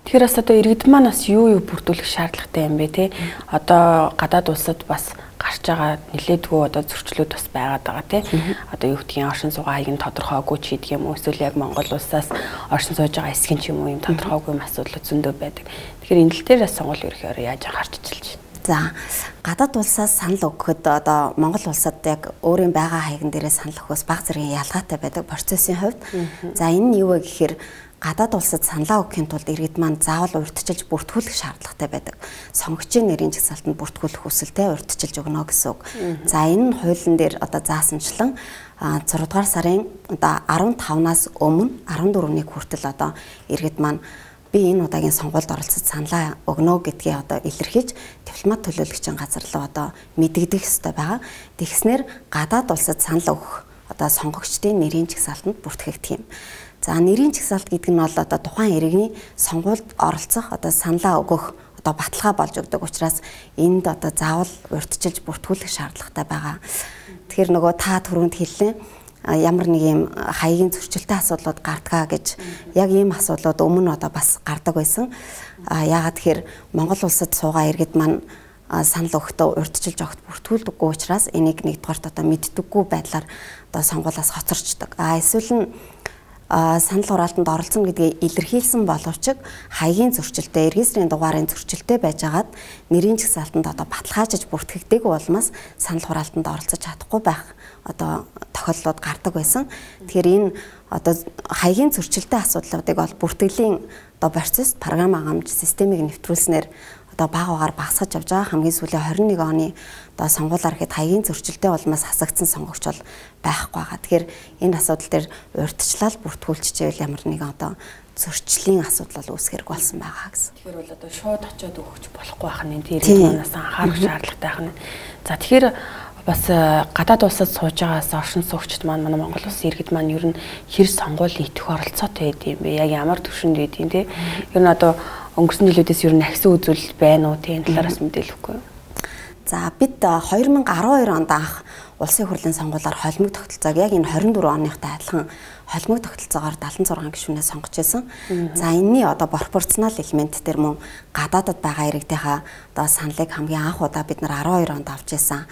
Тэгэхээр бас одоо иргэд маань бас юу бүрдүүлэх шаардлагатай юм бэ те? Одоо гадаад улсад бас гарч байгаа нэлээдгүй одоо зөрчлүүд бас байгаад байгаа тий. Одоо юу гэдгийг оршин суугааг нь тодорхойгүй ч хийдэг юм уу эсвэл яг Монгол улсаас оршин сууж байгаа эсгэн ч юм уу юм тодорхойгүй асуудал зөндөө байдаг. Тэгэхээр энэ л дээр бас сонгуул ерөөхөөр яаж гарч ичилж байна. За гадаад улсаас санал өгөхөд одоо Монгол улсад яг өөрийн байгаа хаягн дээрээ санал өгөхөөс бага зэргийн ялгаатай байдаг процессын хувьд. За энэ нь юу вэ гэхээр гадаад улсад саналаа өгөхийн тулд иргэд маань заавал урьдчилж бүртгүүлэх шаардлагатай байдаг. Сонгогчийн нэрийн жагсаалтанд бүртгүүлэх хүсэлтэй урьдчилж өгнө гэсэн үг. За энэ нь хуулийн дээр одоо заасанчлан 6 дугаар сарын одоо 15-наас өмнө 14-ний хүртэл одоо иргэд маань би энэ удаагийн сонгуульд оролцож саналаа өгнө гэдгээ одоо илэрхийлж дипломат төлөөлөгчийн газар руу одоо мэдэгдэх ёстой байгаа. Тэгснээр гадаад улсад санал өгөх одоо сонгогчдын нэрийн жагсаалтанд бүртгэгдэх юм. За нэрийн жагсаалт гэдэг нь бол одоо тухайн иргэний сонгуульд оролцох одоо саналаа өгөх одоо баталгаа болж өгдөг учраас энд одоо заавал урьдчилж бүртгүүлэх шаардлагатай байгаа. Тэгэхээр нөгөө та түрүүнд хэллээ ямар нэг юм хаягийн зөрчилтэй асуудлууд гардгаа гэж яг ийм асуудлууд өмнө одоо бас гардаг байсан. Яагаад тэгэхээр Монгол улсад суугаа иргэд маань санал өгөхдөө урьдчилж огт бүртгүүлдэггүй учраас энийг нэгдүгээрт одоо мэддэггүй байдлаар одоо сонгуулиас хоцорчдөг. Эсвэл нь санал хураалтанд оролцоно гэдгийг илэрхийлсэн боловч хаягийн зөрчилтэй, регистрийн дугаарын зөрчилтэй байжгаад нэрийн жагсаалтанд одоо баталгаажиж бүртгэгдээгүй улмаас санал хураалтанд оролцож чадахгүй байх одоо тохиолдлууд гардаг байсан. Тэгэхээр энэ одоо хаягийн зөрчилтэй асуудлуудыг бол бүртгэлийн одоо процесс програм хангамж системийг нэвтрүүлснээр одоо бага багаар багасгаж явж байгаа. Хамгийн сүүлийн 21 оны одоо сонгуулиар хэд хаягийн зөрчилтэй улмаас хасагдсан сонгогч бол байхгүй байгаа. Тэгэхээр энэ асуудал дээр урьдчилал бүртгүүлчихвэл ямар нэгэн одоо зөрчлийн асуудал бол үүсгэрэг болсон байгаа гэсэн. Тэгэхээр бол одоо шууд очиод өгч болохгүй байх нь тэр иргэднээс анхаарах шаардлагатай байх нь. За тэгэхээр бас гадаад улсад сууж байгаас оршин суугчид маань манай Монгол улсын иргэд маань ер нь хэр сонгуул нийтэх оролцоотой байд юм бэ? Яг ямар төвшөнд байд юм те? Ер нь одоо өнгөрсөн жилүүдээс ер нь ахисан үзүүлэлт байна уу? Тийм талаараас мэдээлэл өгөхгүй юу? За бид 2012 онд анх улсын хурлын сонгуулиар холимог тогтолцоог яг энэ 24 оныхтай адилхан холимог тогтолцоогоор 76 гишүүнээ сонгож байсан. За энэний одоо пропорционал элемент дээр мөн гадаадад байгаа иргэдийнхаа одоо саналыг хамгийн анх удаа бид нар 12 онд авч байсан.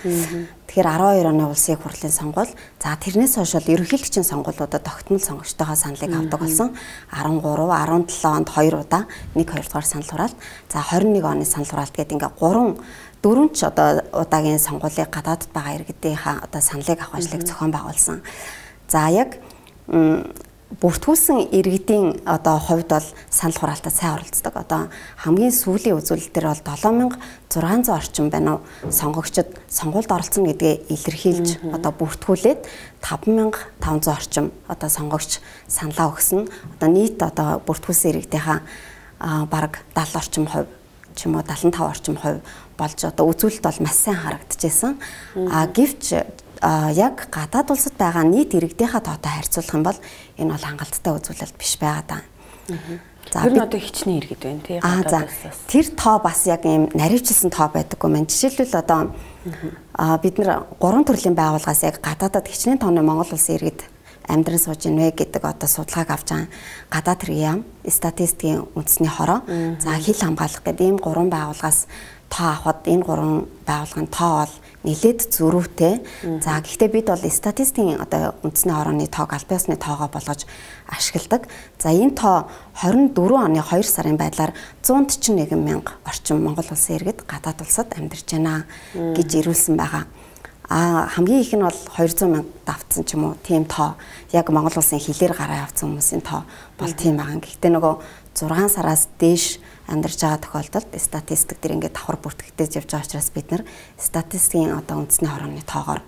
Тэгэхээр 12 оны улсын хурлын сонгуул за тэрнээс хойш бол ерөнхийлөгчийн сонгуулиудад тогтмол сонгогчтойгоо саналыг авдаг болсон. 13, 17 онд 2 удаа 1, 2 дугаар санал хураалт. За 21 оны санал хураалт гэдэг ингээ 4 ч одоо удаагийн сонгуулийг гадаадд байгаа иргэдийнхаа одоо саналыг авах ажлыг зохион байгуулсан. За яг бүртгүүлсэн иргэдийн одоо хувьд бол санал хураалтад сайн оролцдог. Одоо хамгийн сүүлийн үзүүлэлтээр бол 7600 орчим байна уу сонгогчид сонгуульд оролцсон гэдгээ илэрхийлж одоо бүртгүүлээд 5500 орчим одоо сонгогч саналаа өгсөн. Одоо нийт одоо бүртгүүлсэн иргэдийнхаа бараг 70 орчим хувь ч юм уу 75 орчим хувь болж одоо үзүүлэлт бол маш сайн харагдчихсан. Гэвч яг гадаад улсад байгаа нийт иргэдийнхаа тоотой харьцуулах юм бол энэ бол хангалттай үзүүлэлт биш байгаа даа. За бид одоо хичнээн иргэд байна тий гадаад улсаас. Тэр тоо бас яг ийм наривчилсан тоо байдаггүй мэн. Жишээлбэл одоо бид нар 3 төрлийн байгууллагаас яг гадаадад хичнээн тооны Монгол улсын иргэд амьдран сууж ийнвэ гэдэг одоо судалгааг авч байгаа. Гадаад хэргийн яам, статистикийн үндэсний хороо, за хил хамгаалах гэдэг ийм 3 байгууллагаас тоо авахд энэ 3 байгууллагын тоо бол нэлээд зөрүүтэй. За гэхдээ бид бол статистикийн одоо үндэсний хорооны тоог аль биесны тоогоо болгож ашигладаг. За энэ тоо 24 оны 2 сарын байдлаар 141 мянга орчим Монгол улсын иргэд гадаад улсад амьдарч байна гэж ирүүлсэн байгаа. Хамгийн их нь бол 200 мянга давтсан ч юм уу тийм тоо. Яг Монгол улсын хилээр гараа явсан хүмүүсийн тоо бол тийм байгаа. Гэхдээ нөгөө 6 сараас дээш амьдарч байгаа тохиолдолд статистик дээр ингээд давхар бүртгэгдэж явж байгаа учраас бид нар статистикийн одоо үндэсний хорооны тоогоор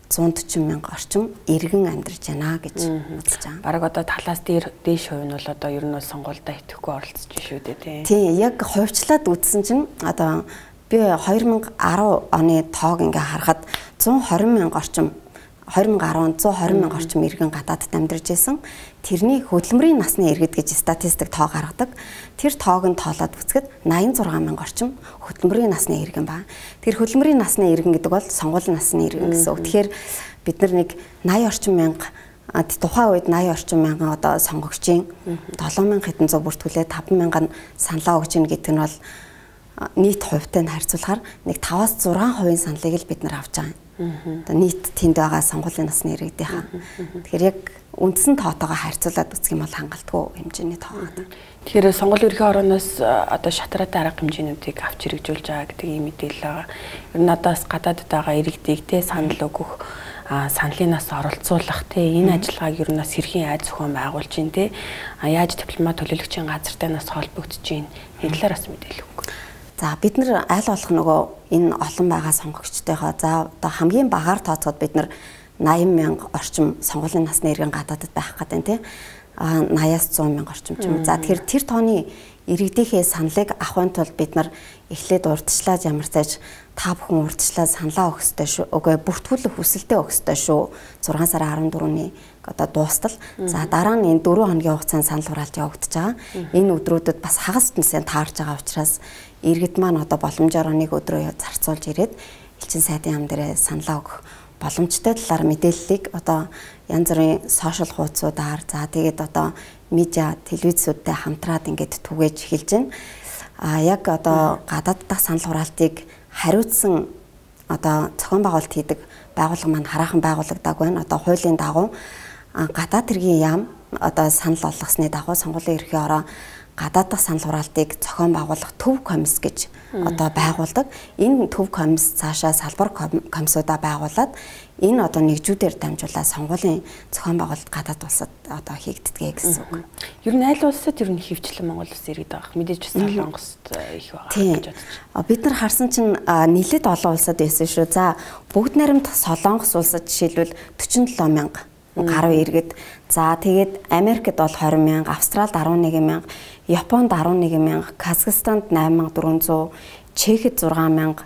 140 мянга орчим иргэн амьдарч байна гэж үзэж байгаа. Бараг одоо талаас дээш хувь нь бол одоо ер нь бол сонгуультай итгэхгүй оролцож шүү дээ тийм. Яг хувьчлаад үзсэн чинь одоо би 2010 оны тоог ингээ харахад 120 мянга орчим 2010 120 мянга орчим иргэн гадаадд амьдарч байсан. Тэрний хөдөлмөрийн насны иргэд гэж статистик тоо гаргадаг. Тэр тоог нь тоолоод үзэхэд 86 мянга орчим хөдөлмөрийн насны иргэн байна. Тэр хөдөлмөрийн насны иргэн гэдэг бол сонгуулийн насны иргэн гэсэн үг. Тэгэхээр бид нар нэг 80 орчим мянга тухайн үед 80 орчим мянган одоо сонгогчийн 7000 хэдэн зур бүртгүүлээ 5000 нь саналаа өгч ийн гэдэг нь бол нийт хувьтай нь харьцуулахаар нэг 5-6% саналыг л бид нар авч байгаа. Одоо нийт тэнд байгаа сонгуулийн насны иргэдийнхаа. Тэгэхээр яг үндсэн тоотойгоо харьцуулаад үзэх юм бол хангалтгүй хэмжээний тоо байна. Тэгэхээр сонгуулийн ерхий орооноос одоо шатраатай арга хэмжээнүүдийг авч хэрэгжүүлж байгаа гэдэг ийм мэдээлэл байгаа. Ер нь одоос гадаадд байгаа иргэдийг те санал өгөх саналын нас оролцуулах те энэ ажиллагааг ер нь бас хэрхэн айд зохион байгуулж ин те яаж дипломат төлөөлөгчийн газартай нас холбогдож ин энэ талаар бас мэдээлэл өгөх. За бид нар аль болох нөгөө энэ олон байгаа сонгогчдойгоо за одоо хамгийн багаар тооцоод бид нар 80 мянга орчим сонгуулийн насны иргэн гадаадд байх гэдэг нь тий 80-аас 100 мянга орчим ч юм. За тэгэхээр тэр тооны иргэдийнхээ саналыг авахын тулд бид нар эхлээд урдчлаад ямар цааш та бүхэн урдчлаад саналаа өгөх ёстой шүү. Үгүй бүртгүүлэх хүсэлтэд өгөх ёстой шүү. 6 сарын 14-ний одоо дуустал. За дараа нь энэ 4 хоногийн хугацаанд санал хураалт явагдаж байгаа. Энэ өдрүүдэд бас хагас тэнцэн таарж байгаа учраас иргэд маань одоо боломжоор нэг өдрөө зарцуулж ирээд элчин сайдын яам дээр саналаа өгөх боломжтой талаар мэдээллийг одоо янз бүрийн сошиал хуудасуудаар за тэгээд одоо медиа телевизүүдтэй хамтраад ингээд түгээж эхэлж байна. Яг одоо гадаад дахь санал хураалтыг хариуцсан одоо зохион байгуулалт хийдэг байгууллага маань хараахан байгуулагдаг байна. Одоо хуулийн дагуу гадаад хэргийн яам одоо санал олгосны дагуу сонгуулийн ерхий ороо гадаад дахь санал хураалтыг зохион байгуулах төв комисс гэж одоо байгуулдаг. Энэ төв комисс цаашаа салбар комиссуудаа байгуулад энэ одоо нэгжүүдээр дамжуулаад сонгуулийн зохион байгуулалт гадаад улсад одоо хийгддэг гэсэн үг. Ер нь аль улсад ер нь хөвчлэн Монгол улс иргэд байгаа. Мэдээж Солонгост их байгаа гэж бодож байна. Бид нар харсан чинь нийлээд олон улсад байсан шүү. За бүгд найрамд Солонгос улсад жишээлбэл 47 мянга гаруй иргэд. За тэгээд Америкт бол 20 мянга, Австралид 11 мянга, Японд 11 мянга, Казахстанд 8400, Чехэд 6 мянга,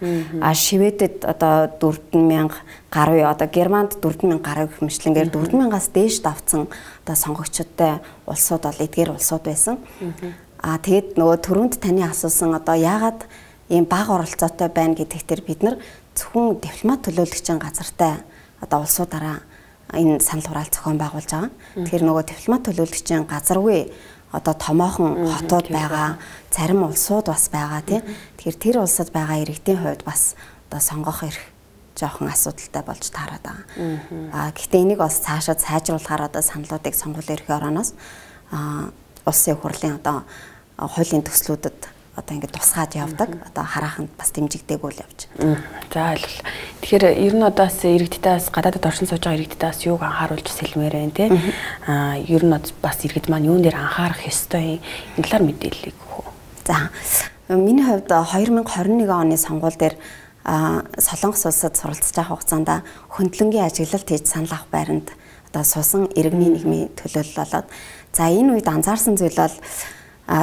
Шведэд одоо 4 мянга гаруй, одоо Германд 4 мянга гаруй гэх мэтлэнгээр 4 мянгаас дээш давцсан одоо сонгогчдтой улсууд бол эдгээр улсууд байсан. Тэгээд нөгөө түрүүнд таны асуусан одоо яагаад ийм бага оролцоотой байна гэдэгтэр бид нар зөвхөн дипломат төлөөлөгчийн газартай одоо улсуудаараа энэ санал хураалт зохион байгуулж байгаа. Тэгэхээр нөгөө дипломат төлөөлөгчийн газаргүй одоо томоохон хотууд байгаа, зарим улсууд бас байгаа тий. Тэгэхээр тэр улсад байгаа иргэдийн хувьд бас одоо сонгох эрх жоохон асуудалтай болж таараад байгаа. Гэхдээ энийг бас цаашаа сайжруулахаар одоо саналуудыг сонгуулийн ерхий орооноос улсын хурлын одоо хуулийн төслүүдэд одоо ингээд тусгаад явдаг. Одоо харааханд бас дэмжигдээгүй л явж байна. За ойлголоо. Тэгэхээр ер нь одоо бас иргэдтээс гадаадд оршин сууж байгаа иргэдтээс юуг анхааруулж сэлмээр байна те. Ер нь бас иргэд маань юун дээр анхаарах ёстой энэ талаар мэдээллийг өгөх үү. За миний хувьд 2021 оны сонгуул дээр Солонгос улсад суралцж байгаа хугацаанд хөндлөнгийн ажиглалт хийж санал авах байранд одоо суусан иргэний нийгмийн төлөөлөл болоод за энэ үед анзаарсан зүйл бол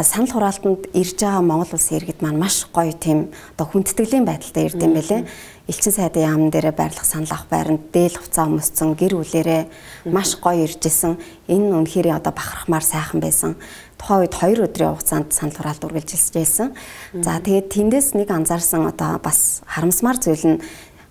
санал хураалтанд ирж байгаа Монгол улсын иргэд маань маш гоё тийм одоо хүндэтгэлийн байдалтай ирд юм байлээ. Элчин сайдын яамн дээрээ байрлах санал авах байранд дээл хувцас өмссөн гэр бүлэрээ маш гоё иржсэн. Энэ үнэхээр одоо бахархмаар сайхан байсан. Тухайн үед 2 өдрийн хугацаанд санал хураалт үргэлжилсэн. За тэгээд тэндээс нэг анзаарсан одоо бас харамсмаар зүйл нь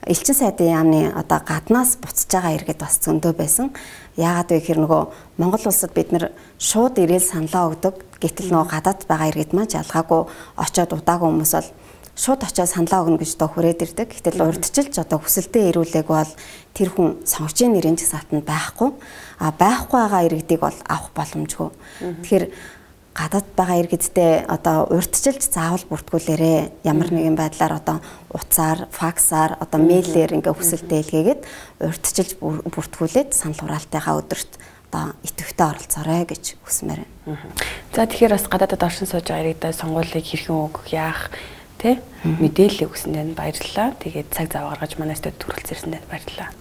элчин сайдын яамны одоо гаднаас буцаж байгаа иргэд бас зөндөө байсан. Яагаад вэ гэхээр нөгөө Монгол улсад бид нэр шууд ирээл саналаа өгдөг. Гэтэл нөгөө гадаад байгаа иргэд маань ялгаагүй очоод удаагүй хүмүүс бол шууд очоод саналаа өгнө гэж одоо хүрээд ирдэг. Гэтэл урдчилж одоо хүсэлтэд ирүүлээг бол тэр хүн сонгогчийн нэрийн жагсаалтанд байхгүй. Байхгүй байгаа иргэдийг бол авах боломжгүй. Тэгэхээр гадаад байгаа иргэдтэй одоо урьдчилж заавал бүртгүүлээрэ ямар нэгэн байдлаар одоо утсаар, факсаар, одоо мэйлээр ингээ хүсэл дэлгээгээд урьдчилж бүртгүүлээд санал хураалтынхаа өдөрт одоо идэвхтэй оролцоорой гэж хүсмээр байна. За тэгэхээр бас гадаадад оршин сууж байгаа иргэдэд сонгуулийг хэрхэн өгөх яах тэ мэдээлэл өгсөндөө баярлалаа. Тэгээд цаг зав гаргаж манай студид хүрэлцээрсэндээ баярлалаа.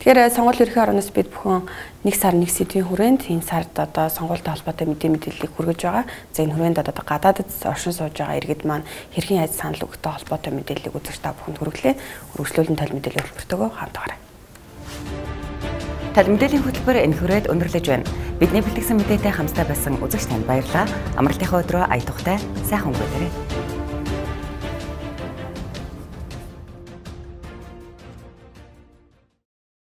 Тэгэхээр сонгуул ерөнхий ороноос бид бүхэн 1 сар 1 сэдвийн хүрээнд энэ сард одоо сонгуультай холбоотой мэдээллийг хүргэж байгаа. За энэ хүрээнд одоо гадаадд оршин сууж байгаа иргэд маань хэрхэн яаж санал өгөхтэй холбоотой мэдээллийг үзэж та бүхэнд хүргэлээ. Үргэлжлүүлэн тал мэдээллийн хөтөлбөртөөгөө хамтаарай. Тал мэдээллийн хөтөлбөр энэ хүрээд өндөрлөж байна. Бидний бэлтгэсэн мэдээтэй хамтдаа байсан үзэгч танд баярлалаа. Амралтынхаа өдрөө ая тухтай сайхан өнгөрөөрэй.